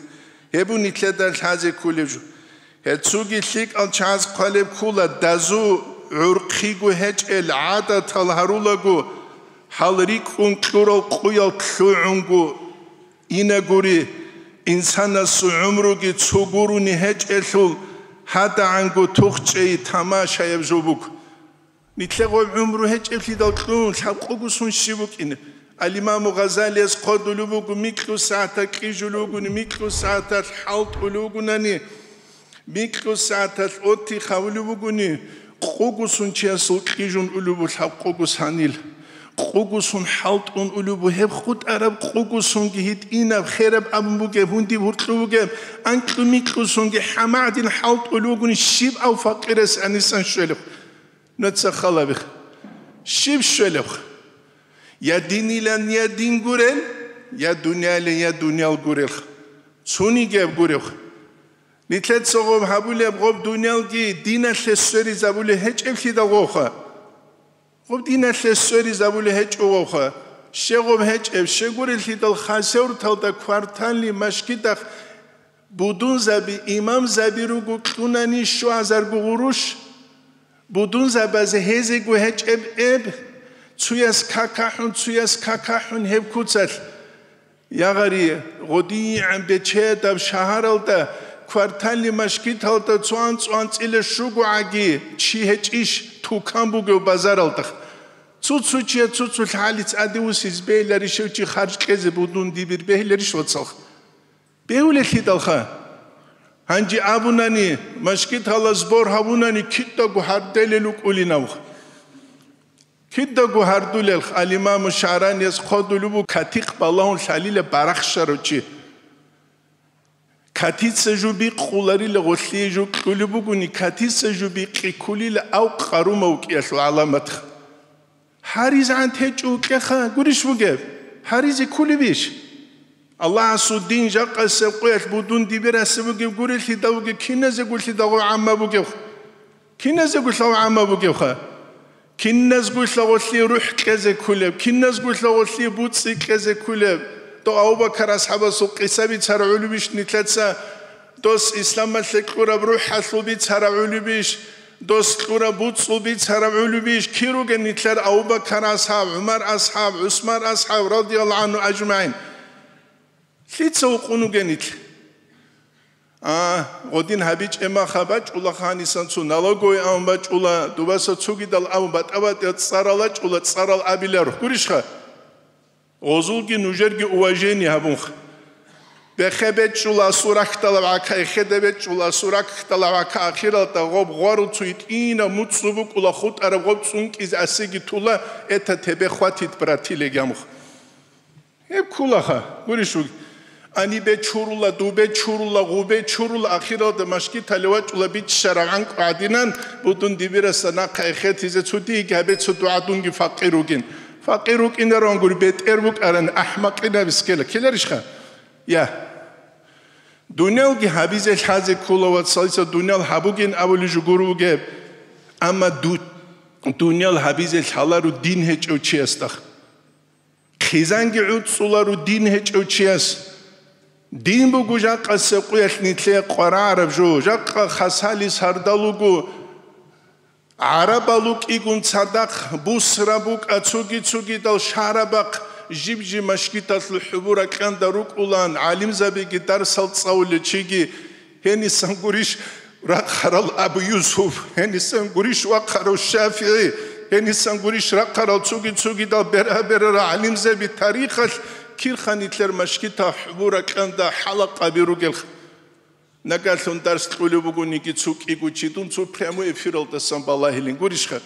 Гьеб бу нилъеда лъазе кколеб жо. Гьел цоги лъикӀал чагӀаз хъвалеб ккола, дазу гӀурхъиго гьечӀел гӀадатал гьарулаго, гьал рикӀкӀун кьурал къуял лъугӀунго инагури, инсанасул гӀумруги цо гурони гьечӀелъул, гьадагӀанго тухчӀей тамашаяб жо буго. Нилъер гъой гӀумру гьечӀеблъидал кьун, лъабкъого сон щиб букӀин? Ал-Имаму Гъазалияс хъодулев вуго, микьу сагӀаталъ кьижулев вугони, микьу сагӀаталъ хӀалтӀулев вугунани, микьу сагӀаталъ отдых гьавулев вугони, къого сон чиясул кьижун улев ву лъабкъого санил. Къого сон хӀалтӀун улев ву, гьеб хутӀараб къого сонги гьитӀинаб, хераб абун бугеб, гьундиб гьуркьу бугеб, анкьу-микьу сонги хӀамагӀдин хӀалтӀулев вугони, щиб ав факъирас гӀанисан щвелев? Нуца халабих. Щиб щвелев? Я динилан, я дин гурел, я дуняле, я дуниял гурел. Цунигеб гурев. Нилъеца гъоб гьабулеб гъоб дуниялги диналъе сверизабулеб гьечӀеблъидал гъовха. Гъоб диналъе сверизабулеб гьечӀо гъовха. Щегъоб гьечӀеб, щегурелъидал хасеврталда кварталли машгидахъ будунзаби, имамзаби руго кьунани щуазарго гъурущ. Будунзабазе гьезего гьечӀеб эб, цуяс какахӀун, цуяс какахӀун гьеб куцалъ. Ягъари, гъодигӀан бечедаб шагьаралда, кварталли машгиталда цо анцӀ-анцӀила щугогӀаги чи гьечӀищ, тукан бугев базаралда. Цо-цо чияс цо-цо лъалец гӀадивусиз бегьиларищ гьев чи харж кьезе будун дибир бегьиларищ вацалха? Бегьулелъидалха. Гьанже абунани, машгитала сбор гьабунани кидаго гьарделел рукӀулинавха. Кидаго гьардулелха, ал-Имаму ШагӀранияс хъодулеб буго, катикъ балагьун лъалила барахщарав чи. Катица жо бикъуларила гъолъие жо кьулеб бугони, катица жо бикъи ккулила ав къарумав кӀиялъул гӀаламатха. ГьаризегӀан течӀо кьеха гурищ бугеб? Гьаризе ккулебищ? Аллагьасул дин жакъасеб къоялъ будун дибирасеб бугеб гурелъидал бугеб, киназегулъидал гъов гӀамма бугев? Киназегулъав гӀамма бугевха? Киназгулъа гъолъие рухӀ кьезе ккулеб, киназгулъа гъолъие буцӀи кьезе ккулеб? Дов Абу-Бакар асхӀабасул къиса бицарав гӀолебищ нилъеца? Дос исламалъе кьураб рухӀалъул бицарав гӀолебищ? Дос кьураб буцӀул бицарав гӀолебищ? Кир ругел нилъер Абу-Бакар асхӀаб, ГӀумар асхӀаб, ГӀусман асхӀаб, радияллагьу гӀанхум ажмагӀин? Лъица вукъун вугел нилъ? А, гъодин гьабичӀеб маха бачӀула, гьанисан цо налоговый абун бачӀула, дубаса цогидал абун батӀа-батӀиял цӀарал рачӀула, цӀарал абиларо. Гурищха? Гъозулги нужерги уважение гьабунха. Бехе бечӀчӀула асул рахьдалаб гӀака, эхеде бечӀчӀула асул рахьдалаб гӀака, ахиралда гъоб гъварул цо гьитӀинаб муцӀцӀу букӀула, хутӀараб гъоб цӀункӀизе асиги тула, это тебе хватит, брат, или гьамуха. Гьеб кколаха, гурищ вугев. Ани бечурула, дубе чурула, гъубе чурула, ахиралда машгитале вачӀула биччараб гӀанкӀу гӀадинан, будун дибираса нахъа эхетизе цо диги гьабе цо дугӀа дунги факъир вугин. Факъир вукӀинаран гури, бетӀер букӀаран, ахӀмакъинаб искела. Ккеларищха? Я. Дуниялги гьабизе лъазе ккола, вацалица дуниял гьабугин абулей жо гур вугеб. Амма ду-, дуниял гьабизе лъаларо дин гьечӀев чиясда. Хъизанги гӀуцӀцӀуларо дин гьечӀев чияс. Дин буго жакъасеб къуялъ нилъее къварагӀараб жо, жакъа хасалис гьардал руго. ГӀарабал рукӀигун цадахъ, бусра букӀа, цоги-цогидал шагьарабахъ, жиб-жиб машгиталъул хӀубур ракьанда рукӀулан, гӀалимзабиги дарсал цӀалулел чиги, гьенисан гурищ рахъарал Абу Юсуф, гьенисан гурищ вахъарав ШафигӀи, гьенисан гурищ рахъарал цоги-цогидал бера-берара гӀалимзаби, тарихалъ кирха нилъер машгитал хӀубур ракьанда хӀалакъаби ругелха. Нагагьлъун дарс кьулеб бугониги цо кӀиго чи, дун цо прямой эфиралдасан балагьилин гурищха?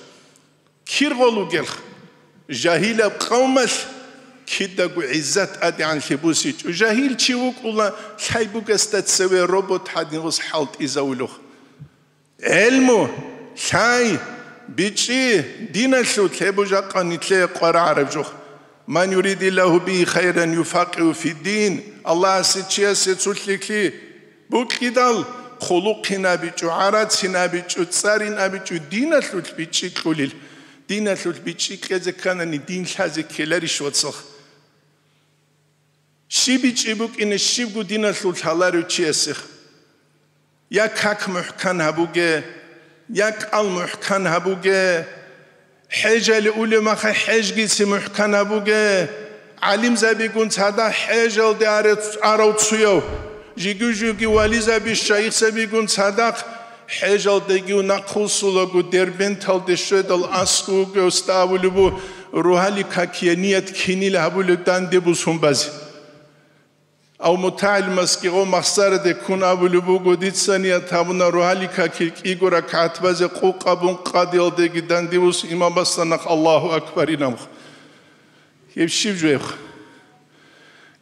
Кир гъол вугелха? Жагьилаб къавмалъ кидаго гӀиззат тӀадегӀанлъи бусичӀо. Жагьил чи вукӀула, лъай бугасда цеве робот гьадин гъос хӀалтӀизавулев. ГӀелму, лъай, бичӀчӀи диналъул, гьеб жакъа нилъее къварагӀараб жо. «Ман юридиллагьу бигьи хайран юфаккигьу фиддин». Аллагьасе чиясе цо лъикӀлъи букӀидал, хъулухъин абичӀо, гӀарацин абичӀо, цӀарин абичӀо, диналъулъ бичӀчӀи кьулел. Диналъулъ бичӀчӀи кьезе кканани, дин лъазе ккеларищ, вацал? Щиб бичӀчӀи букӀине щибго диналъул лъаларев чиясех? Я как мухӀкан гьабуге, я кӀал мухӀкан гьабуге, хӀежале улеб маха хӀежгицин мухӀкан гьабуге, гӀалимзабигун цадахъ хӀежалде аре-, арав цуяв, жиги-жуги вализаби, шайихзабигун цадахъ хӀежалдегив нахъвуссулаго Дербенталде щведал аскӀов вугевсда абулеб бу, рогьалил какие ният кинил гьабулеб данде бусун базе. Ав мутагӀилмасги гъо махсараде ккун абулеб буго, дица ният гьабуна рогьалил какил кӀиго ракагӀат базе къукъабун къадиялдеги дандивус имамасда нахъ Аллагьу акбар инаб. Гьеб щиб жо гьеб?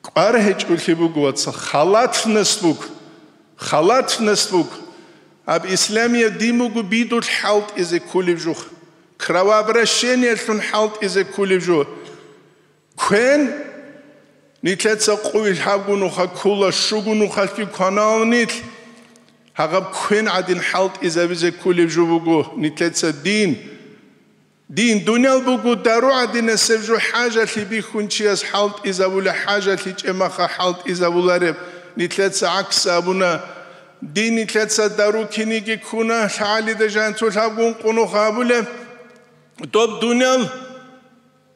КӀвар гьечӀолъи буго, вацал, халатность буго, халатность буго. Гьаб исламияб дин буго бидулъ хӀалтӀизе кколеб жо, кровообращениялъун хӀалтӀизе кколеб жо. Квен, нилъеца къуй лъабгу нуха ккула, щугу нухалъги кванаун нилъ. Гьагъаб квен гӀадин хӀалтӀизабизе ккулеб жо буго нилъеца дин. Дин дуниял буго дару гӀадинасеб жо, хӀажалъи бихьун чияс хӀалтӀизабула, хӀажалъи чӀемаха хӀалтӀизабулареб, нилъеца гӀакс абуна. Дин нилъеца дару киниги ккуна, лъагӀалида жанцу лъабгун къунухъ абулеб. Доб дуниял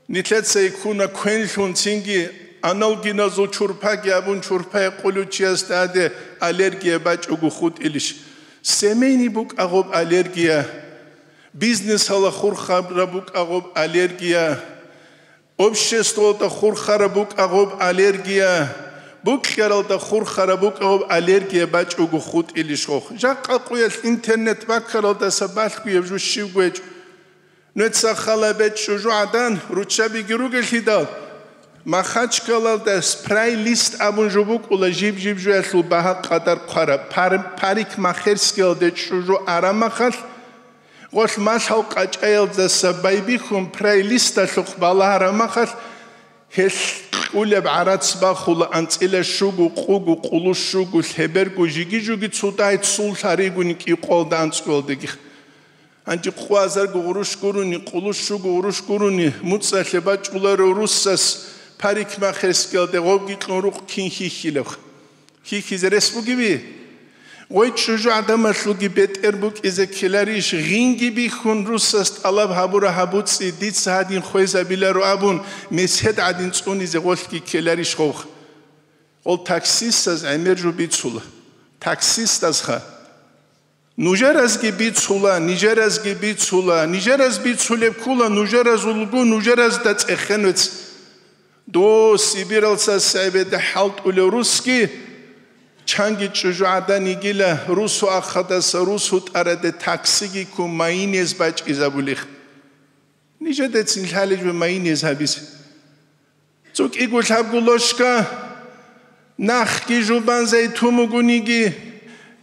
нилъеца иккуна квенлъун, цинги аналгиназул чурпаги абун, чурпа гьекъулев чиясда гьаде аллергия бачӀого хутӀилищ? Семейный букӀа гъоб аллергия, бизнесала хурхараб букӀа гъоб аллергия, обществоялда хурхараб букӀа гъоб аллергия, букьаралда хурхараб букӀа гъоб аллергия бачӀого хутӀилищ гъох? Жакъа къуялъ интернет баккаралдаса балъгояб жо щибго гьечӀо. Нуца хала бечӀчӀу жугӀадан руччабиги ругелъидал, Махачкалалда спрай-лист абун жо букӀула, жиб-жиб жоялъул багьа къадар хъвараб, пар-, парикмахерскиялде чӀужу арамахалъ, гъолъ малъал къачӀаялдаса байбихьун прай-листалъухъ балагьарамахалъ, гьелъ кьулеб гӀарац бахула анцӀила щугу, къугу, къулу щугу, лъеберго, жиги-жуги цо дагь цул лъаригуни кӀикъоялда анцӀгоялдеги. Гьанже къвазарго гъурущ гурони, къулущуго гъурущ гурони, муцӀалъе бачӀуларо руссас парикмахерскиялде гъобги кьун рукъ кин хьихьилебха? Хьихьизе рес бугеби? Гъой чӀужу гӀадамалъулги бетӀер букӀизе ккеларищ, гъинги бихьун руссас тӀалаб гьабура гьабуцӀи, дица гьадин хвезабиларо абун, месед гӀадин цӀунизе гъолъги ккеларищ гъовха? Гъол таксистаз гӀемер жо бицула. Таксистазха. Нужеразги бицула, нижеразги бицула, нижераз бицулеб ккула, нужеразулго нужеразда цӀехен вец. Дос Сибиралца сагӀбеде хӀалтӀулев русги, чанги чӀужугӀадан йигила, русу ахадаса русу тӀараде таксиги ккун майинез бачӀизабулих. Нижедецин лъалеб жо майинез гьабизе. Цо кӀиго лъабго лошка, нахги жубан зайтун бугониги,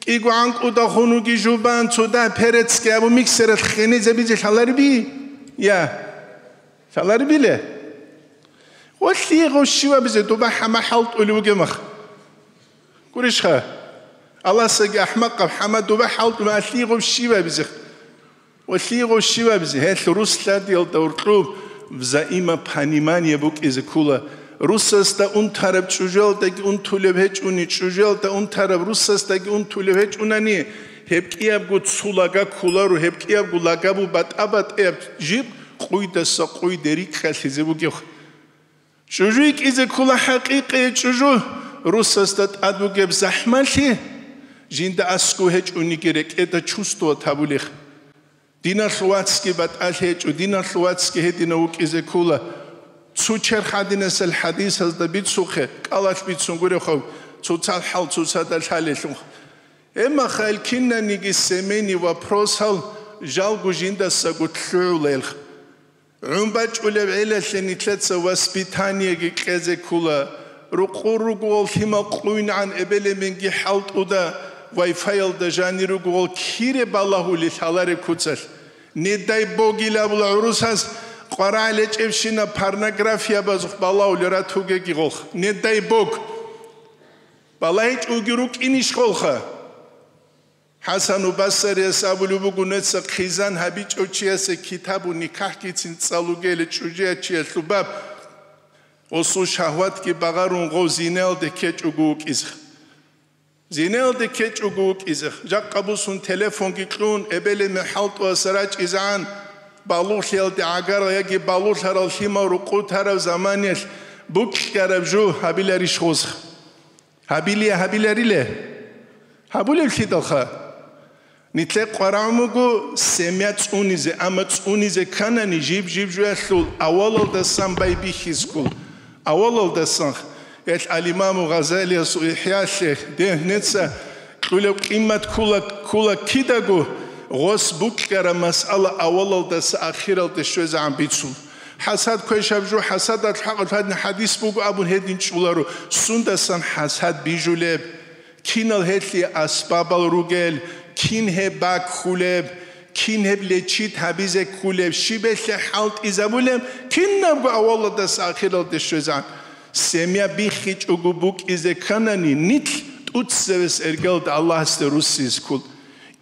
кӀиго гӀанкӀуда хунуги жубан, цо дагь перецги абу миксералъ хенезабизе лъаларби? Я, лъаларбиле? Гъолъие гъов щивабизе дуба хӀама хӀалтӀулев вугемах. Гурищха? Аласаги ахӀмакъаб хӀама дуба хӀалтӀула, гъолъие гъов щивабизе. Гъолъие гъов щивабизе, гьелъ рус лъадиялда уркьуб взаимопонимание букӀизе ккула. Русасда унтараб чӀужуялдаги унтулеб гьечӀуни, чӀужуялда унтараб русасдаги унтулеб гьечӀунани, гьеб кӀиябго цо лага кколаро, гьеб кӀиябго лагабу батӀа-батӀияб жиб къуйдаса къуйде рикӀкӀалъизе бугебха. ЧӀужу йикӀизе ккула хӀакъикъи чӀужу, русасда тӀад бугеб захӀмалъи, жинда аскӀов гьечӀониги рекӀеда чувствовать гьабулех. Диналъул вацги батӀалъи гьечӀо, диналъул вацги гьединав вукӀизе ккула. Цо черх гьадинасел хӀадисазда бицухъе, кӀалалъ бицун гурехъав, цоцал хӀал цоцада лъалелъул. Эмма хал кинаниги семейный вопросал жалго жиндасаго лъугӀулелха. ГӀун бачӀулеб гӀелалъе нилъеца воспитаниеги кьезе ккула, рукъур ругоал лъимал къуйнагӀан эбел-эменги хӀалтӀуда, вай-файалда жанир ругоал кире балагьулел лъалареб куцалъ. Не дай бог ил абула гӀурусаз, къварагӀ лечӀебщинаб порнографиябазухъ балагьулел ратугеги гъолх. Не дай бог! БалагьичӀоги рукӀинищ гъолха? ХӀасану Басарияс абулеб буго, нуца хъизан гьабичӀев чиясе китабу никахӀгицин цӀалугейилан чӀужуячиялъул баб. Гъосул шагьватги багъарун гъов зинаялде ккечӀого вукӀизех. Зинаялде ккечӀого вукӀизех. Жакъа бусун телефонги кьун, эбел-эмен хӀалтӀуаса рачӀизегӀан, балугълъиялде гӀагарал яги балугълъарал лъимал рукъутараб заманиялъ букьараб жо гьабиларищ гъозех? Гьабилия гьабилариле? Гьабулевлъидалха? Нилъе къварагӀун буго семья цӀунизе, амма цӀунизе кканани жиб-жиб жоялъул авалалдасан байбихьизккул. Авалалдасан. Гьелъ ал-Имаму Гъазалиясул ИхӀялъе дегьнеца кьулеб къимат ккула, ккула кидаго, гъос букьараб масъала авалалдаса ахиралде щвезегӀан бицун. ХӀасад квешаб жо, хӀасадалъ хӀакъалъ гьадин хӀадис буго абун гьедин чӀоларо, сундасан хӀасад бижулеб? Кинал гьелъие асбабал ругел, кин гьеб баккулеб, Кин гьеб лечит гьабизе ккулеб, щибелъе хӀалтӀизабулеб, кинабго авалалдаса ахиралде щвезегӀан. Семья биххичӀого букӀизе кканани, нилъ тӀуцевес эргалда Аллагьасде руссизе ккул.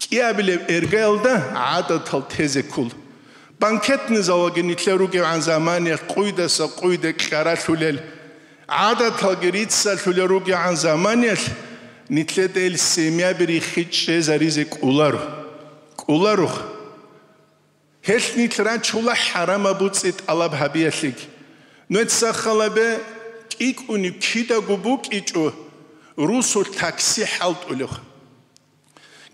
КӀиабилеб эргаялда гӀадатал тезе ккул. Банкетный залалги нилъер ругевгӀан заманиялъ къуйдаса къуйде кьаралъулел, гӀадаталги риццалъулел ругегӀан заманиялъ нилъеда ил семьяби риххичӀезаризе кӀоларо. КӀоларо. Гьелъ нилъ рачула хӀарамаб буцӀи тӀалаб гьабиялъеги. Нуеца халабе кӀикӀуниб кидаго букӀичӀо русулъ такси хӀалтӀулев.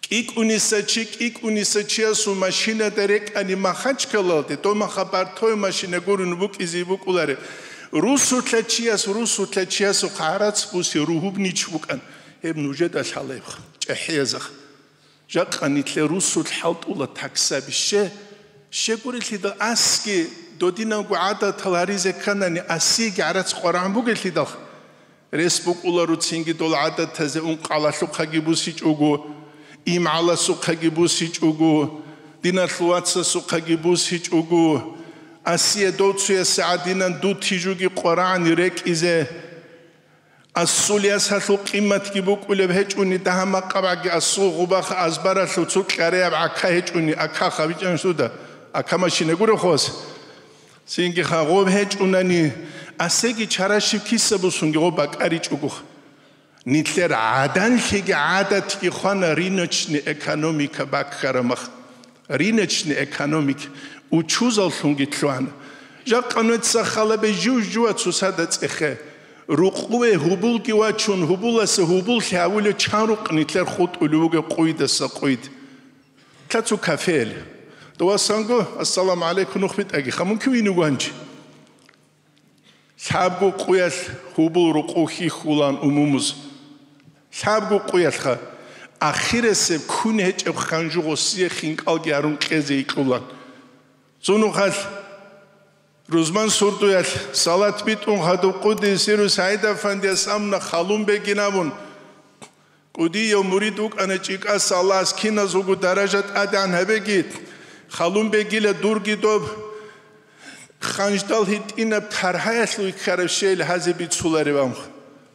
КӀикӀуниса чи, кӀикӀуниса чиясул машинада рекӀани Махачкалалде, дов маха бартове машина гурун букӀизе букӀуларе. Русулъа чияс, русулъа чиясухъ гӀарац буси ругьуб нич букӀан. Гьеб нужеда лъалаебха, чӀехӀиязаха. Жакъа нилъер русулъ хӀалтӀула таксаби. Ще, щегурелъидал асги додинавго гӀадатал гьаризе кканани, асиеги гӀарац къварагӀун бугелъидал, рес букӀула руцинги дол гӀадатазе ункъалалъухъаги бусичӀого, имгӀаласухъаги бусичӀого, диналъул вацасухъаги бусичӀого, асие дов цуясе гӀадинан дутижуги къварагӀани рекӀизе. Асул ясалъул къиматги букӀулеб гьечӀуни, дагьа-макъабгӀаги асул гъубаха азбаралъув цо кьареяб гӀака гьечӀуни, акаха бичӀанщуда, ака машина гурехъос. Цинги хагъоб гьечӀунани, асеги чарашиб киса бусунги гъоб бакӀаричӀогох. Нилъер гӀаданлъиги гӀадатги хвана рыночный экономика баккарамах. Рыночный экономик учузаллъунги лъугьана. Жакъа нуеца халабе жив-жува цусада цӀехе. Рукъуве гьубулги вачун, гьубуласа гьубуллъи гьавулев чан рукъ нилъер хутӀулев вугев къуйдаса къуйд. Лъа цо кафеялъ. Довасанго, ассаламу гӀалайкум, нух битӀаги, хамун кивине гванчи. Лъабго къуялъ гьубул рукъу хьихьулан умумуз. Лъабго къуялъха ахирасеб ккун гьечӀеб ханжу гъосие хинкӀалги гьарун кьезе икьулан. Цунухъалъ рузман сордоялъ салат битӀун хадуб къудиси рус ГӀайдапандияс амна халун бегин абун, кӀудияв мурид вукӀана чӀикӀаса Аллагьас киназулго даража тӀадегӀан гьабеги, халун бегила дурги доб ханждал гьитӀинаб таргьаялъул ккараб щейил гьазе бицуларев амх.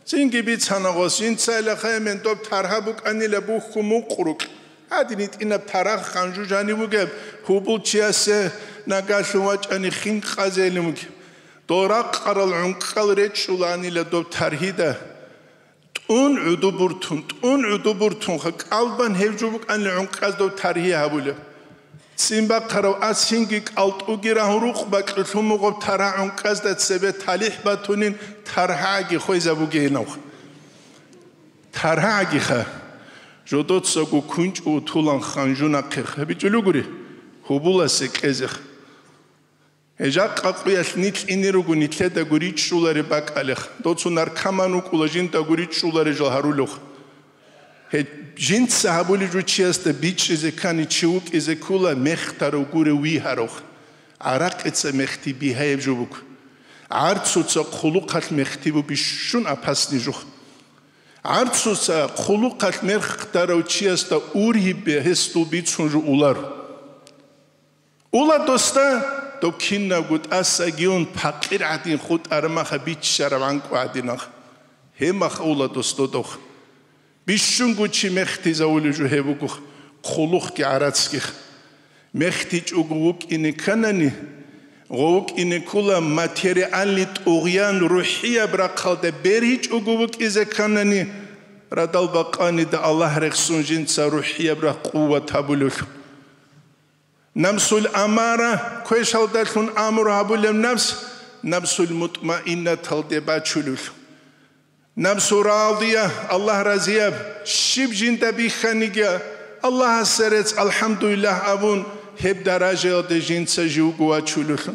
Цинги бицана гъос, жинцайилахъе мен доб таргьа букӀанила бухьу мукъ рукь. Гьадин гьитӀинаб таргьа ханжу жанив вугеб, гьубул чиясе нагалъун вачӀани хин къазелин вугеб. Дол ракъарал гӀункӀкӀал речӀчӀуланила доб таргьида. ТӀун гӀуду буртун, тӀун гӀуду буртунха, кӀалбан гьев жо букӀанила гӀункӀкӀаз дов таргьи гьабулеб. Ццин бахъарав ас гьинги кӀалтӀуги рагьун рукъ бакьулъун мугъаб таргьа гӀункӀкӀазда цебе талихӀ батунин таргьаги хвезабугейинавха. Таргьагиха, жодоцаго кунчӀу утулан ханжунахъех гьабичӀулугури, гьубуласе кьезех. Гьеб жакъа къуялъ нилъ ине руго нилъедаго ричӀчӀулареб бакӀалех, доцун наркоман вукӀула жиндаго ричӀчӀуларел жал гьарулех. Гьеб жинца гьабулев жо чиясда бичӀчӀизе ккани чи вукӀизе ккула мехтарав гурев вигьарав. ГӀаракъица мехти бигьаяб жо буго. ГӀарцуца хъулухъалъ мехти бу бищун опасный жо. ГӀарцуца хъулухъалъ мехтарав чиясда ургьибе гьесул бицун жо улар. Ула досда, доб кинабго тӀасаги ун, пакъир гӀадин хутӀараб маха биччараб гӀанкӀу гӀадинах. Гьеб маха ула дос додох. Бищунго чи мехтизавулев жо гьеб бугох, хъулухъги гӀарацгих. МехтичӀого вукӀине кканани, гъо вукӀине ккула материальный тӀугъян рухӀияб рахъалда бергьичӀого вукӀизе кканани, радал бакъанида Аллагь рехсун жинца рухӀияб рахъ къуват гьабулев. Намсул амара, квешалдалъун амру гьабулеб напс, намсул мутмаиннаталде бачулев. Намсу радия, Аллагь разияб, щиб жинда бихьаниги, Аллагьасе рецц, алхӀамдулиллагь абун, гьеб даражаялде жинца живго вачулев.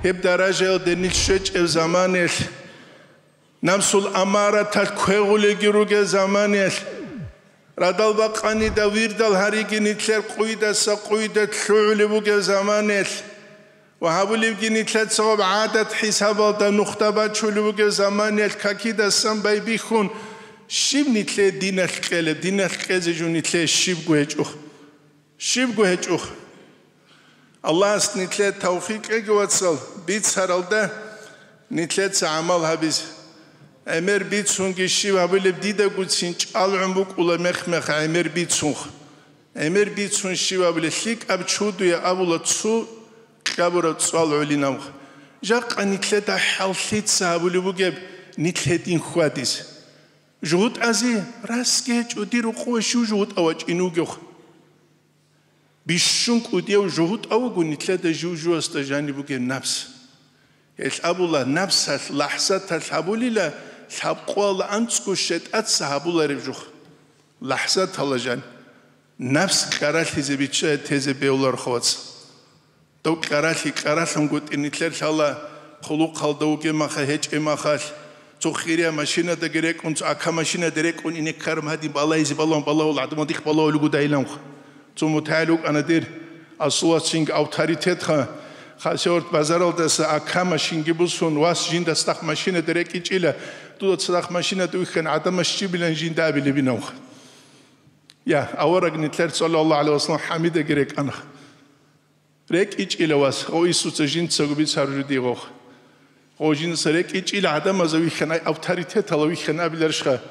Гьеб даражаялде нилъ щвечӀеб заманаялъ, намсул амараталъ квегъулелги ругел заманаялъ, радал бакъанида вирдал гьариги нилъер къуйдаса къуйде лъугӀулеб бугеб заманаялъ ва гьабулебги нилъер цогӀаб гӀадат-хӀисабалда нухда бачулеб бугеб заманаялъ какидасан байбихьун, щиб нилъее диналъ кьелеб, диналъ кьезе жо нилъее щибго гьечӀо. Щибго гьечӀо. Аллагьас нилъее тавфикъ кьеги, вацал, бицаралда нилъеца гӀамал гьабизе. ГӀемер бицунги щиб гьабулеб дидагуцин чӀалгӀун букӀула мех-мех гӀемер бицунха. ГӀемер бицун щиб гьабулеб лъикӀаб чудуе абула цо кьабураб цӀвал гӀолинаб. Жакъа нилъеда хӀаллъица гьабулеб бугеб нилъ гьедин хьвадизе. ЖугьутӀазе расги гьечӀо дир рукъове щив жугьутӀав вачӀин вугевха. Бищун кӀудияв жугьутӀав вуго нилъеда жив-живасда жаниб бугеб напс. Гьелъ абула, напсалъ, лахӀзаталъ гьабулила лъабкъоялда анцӀго щетӀаца гьабулареб жух. ЛахӀзатала жан. Напс кьаралъизе бичча тезе бевларха, вац. Дов кьаралъи кьаралъунгутӀи нилъер лъала, хъулухъалда вугеб маха гьечӀеб махалъ, цо хирия машинадаги рекӀун, цо ака машинада рекӀун ине ккараб гьадин балайзе балавун балавул гӀадамал дихъ балавулев гудайиланха. Цо мутагӀил вукӀана дир, асулас чинги авторитетха, хасиорт базаралдаса ака машинги бусун, вас жинда цадахъ машинада рекӀичӀила, дуда цадахъ машинада вихьан гӀадамас щибилан жинда абилебинавха. Я, авараг нилъер саллаллагьу гӀалайгьи вассалам хӀамидаги рекӀанха. РекӀичӀила вас, о Иисуца жинцаго бицаржу дигъох. О жинца рекӀичӀила гӀадамазда вихьанай авторитетала вихьан абиларищха,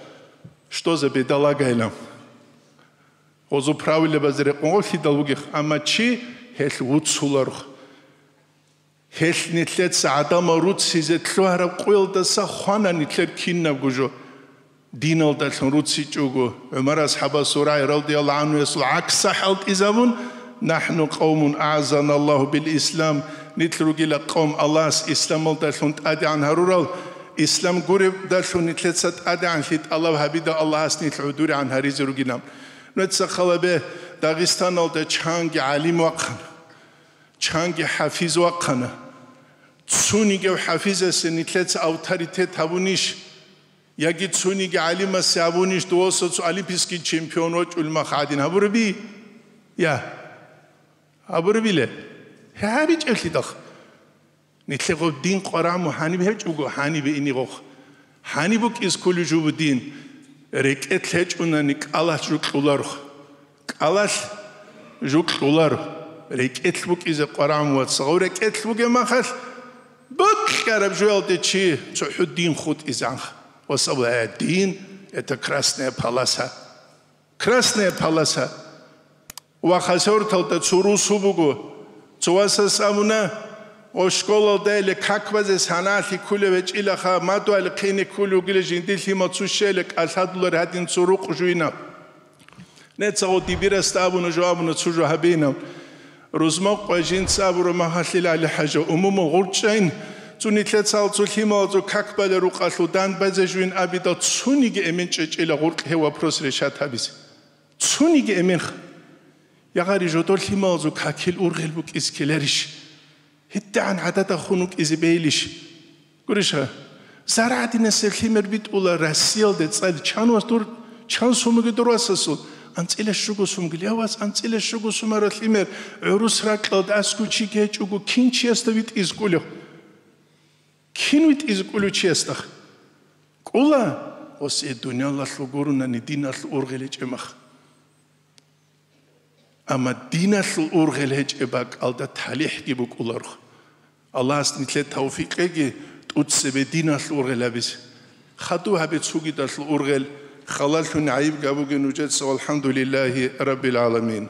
что за бедолагайилан. Гъозу правилабазе рекъон гъов лъидал вугех, амма чи гьелъ вуцуларх. Гьелъ нилъеца гӀадамал руцизе лъугьараб къоялдаса хвана нилъер кинабго жо. Диналдалъун руцичӀого, ГӀумар асхӀабасул рагӀи радияллагьу гӀанхуясул гӀакса хӀалтӀизабун, «НахӀну къавмун агӀаззаналлагьу бил ислам», нилъ ругила къавм Аллагьас исламалдалъун тӀадегӀан гьарурал, ислам гуребдалъун нилъеца тӀадегӀанлъи тӀалаб гьабида Аллагьас нилъ гӀодорегӀан гьаризе ругилан. Нуца халабе Дагъистаналда чанги гӀалим вахъана, чанги хӀафиз вахъана. Цунигев хӀафизасе нилъеца авторитет гьабунищ? Яги цуниги гӀалимасе абунищ, дуваса цо олимпийский чемпион вачӀул мах гӀадин гьабураби? Я. Гьабурабиле? ГьабичӀеблъидахъ. Нилъего дин къвараму гьаниб гьечӀого, гьанибе инигъохъ. Гьаниб букӀиз кколев жубу дин? РекӀелъ гьечӀунани кӀалалъ жукьуларухъ. КӀалалъ жукьулар, рекӀелъ букӀизе къварагӀун вацал. Гъав рекӀелъ бугеб махалъ, бокьараб жоялде чи цохӀо дин хутӀизанха. Ва саб-, э, дин — это красная полоса. Красная полоса. Ва хасорталда цо русу буго. Цо васас абуна, о, школалда или как базе саналъи ккулев гьечӀилаха, мадуали хъине ккулев вугила жиндир лъимал цо щела кӀалъадулар гьадин цо рукъ жуйна. Нецаго дибирасда абуна жо, абуна цо жо гьабинав. Рузмакъ ва жинца абура магьалъил ГӀали-хӀажа, умумул гъурчӀайн, цо нилъецал цо лъималазул как балел рукъалъул дандбазе жуйин абидал цуниги эмен чӀечӀила гъуркь гьев вопрос решат гьабизе. Цуниги эменха. Ягъари жодор лъималазул какил ургъел букӀиз ккеларищ? ГьитӀагӀан гӀадада хун вукӀизе бейилищ? Гуриша, зарагӀдинасеб лъимер битӀула Россиялде цӀали чан вас дур, чан сумуги дур васасул? АнцӀила щуго сумуги. Я вас, анцӀила щуго сумара лъимер гӀурус ракьалда аскӀов чи гьечӀого, кин чиясда витӀизе кӀулев? Кин витӀизе кӀулев чиясдах? КӀула, гъос э дуниялалъул гурунани диналъул ургъел гьечӀеб мах. Амма диналъул ургъел гьечӀеб бакӀалда талихӀги букӀуларухъ. Аллагьас нилъее тавфикъ кьеги тӀуцебе диналъул ургъел гьабизе. Хадув гьабе цугидалъул ургъел, халалъун гӀайиб гьабуге нужеца, валхӀамдулиллагьи раббил гӀаламин.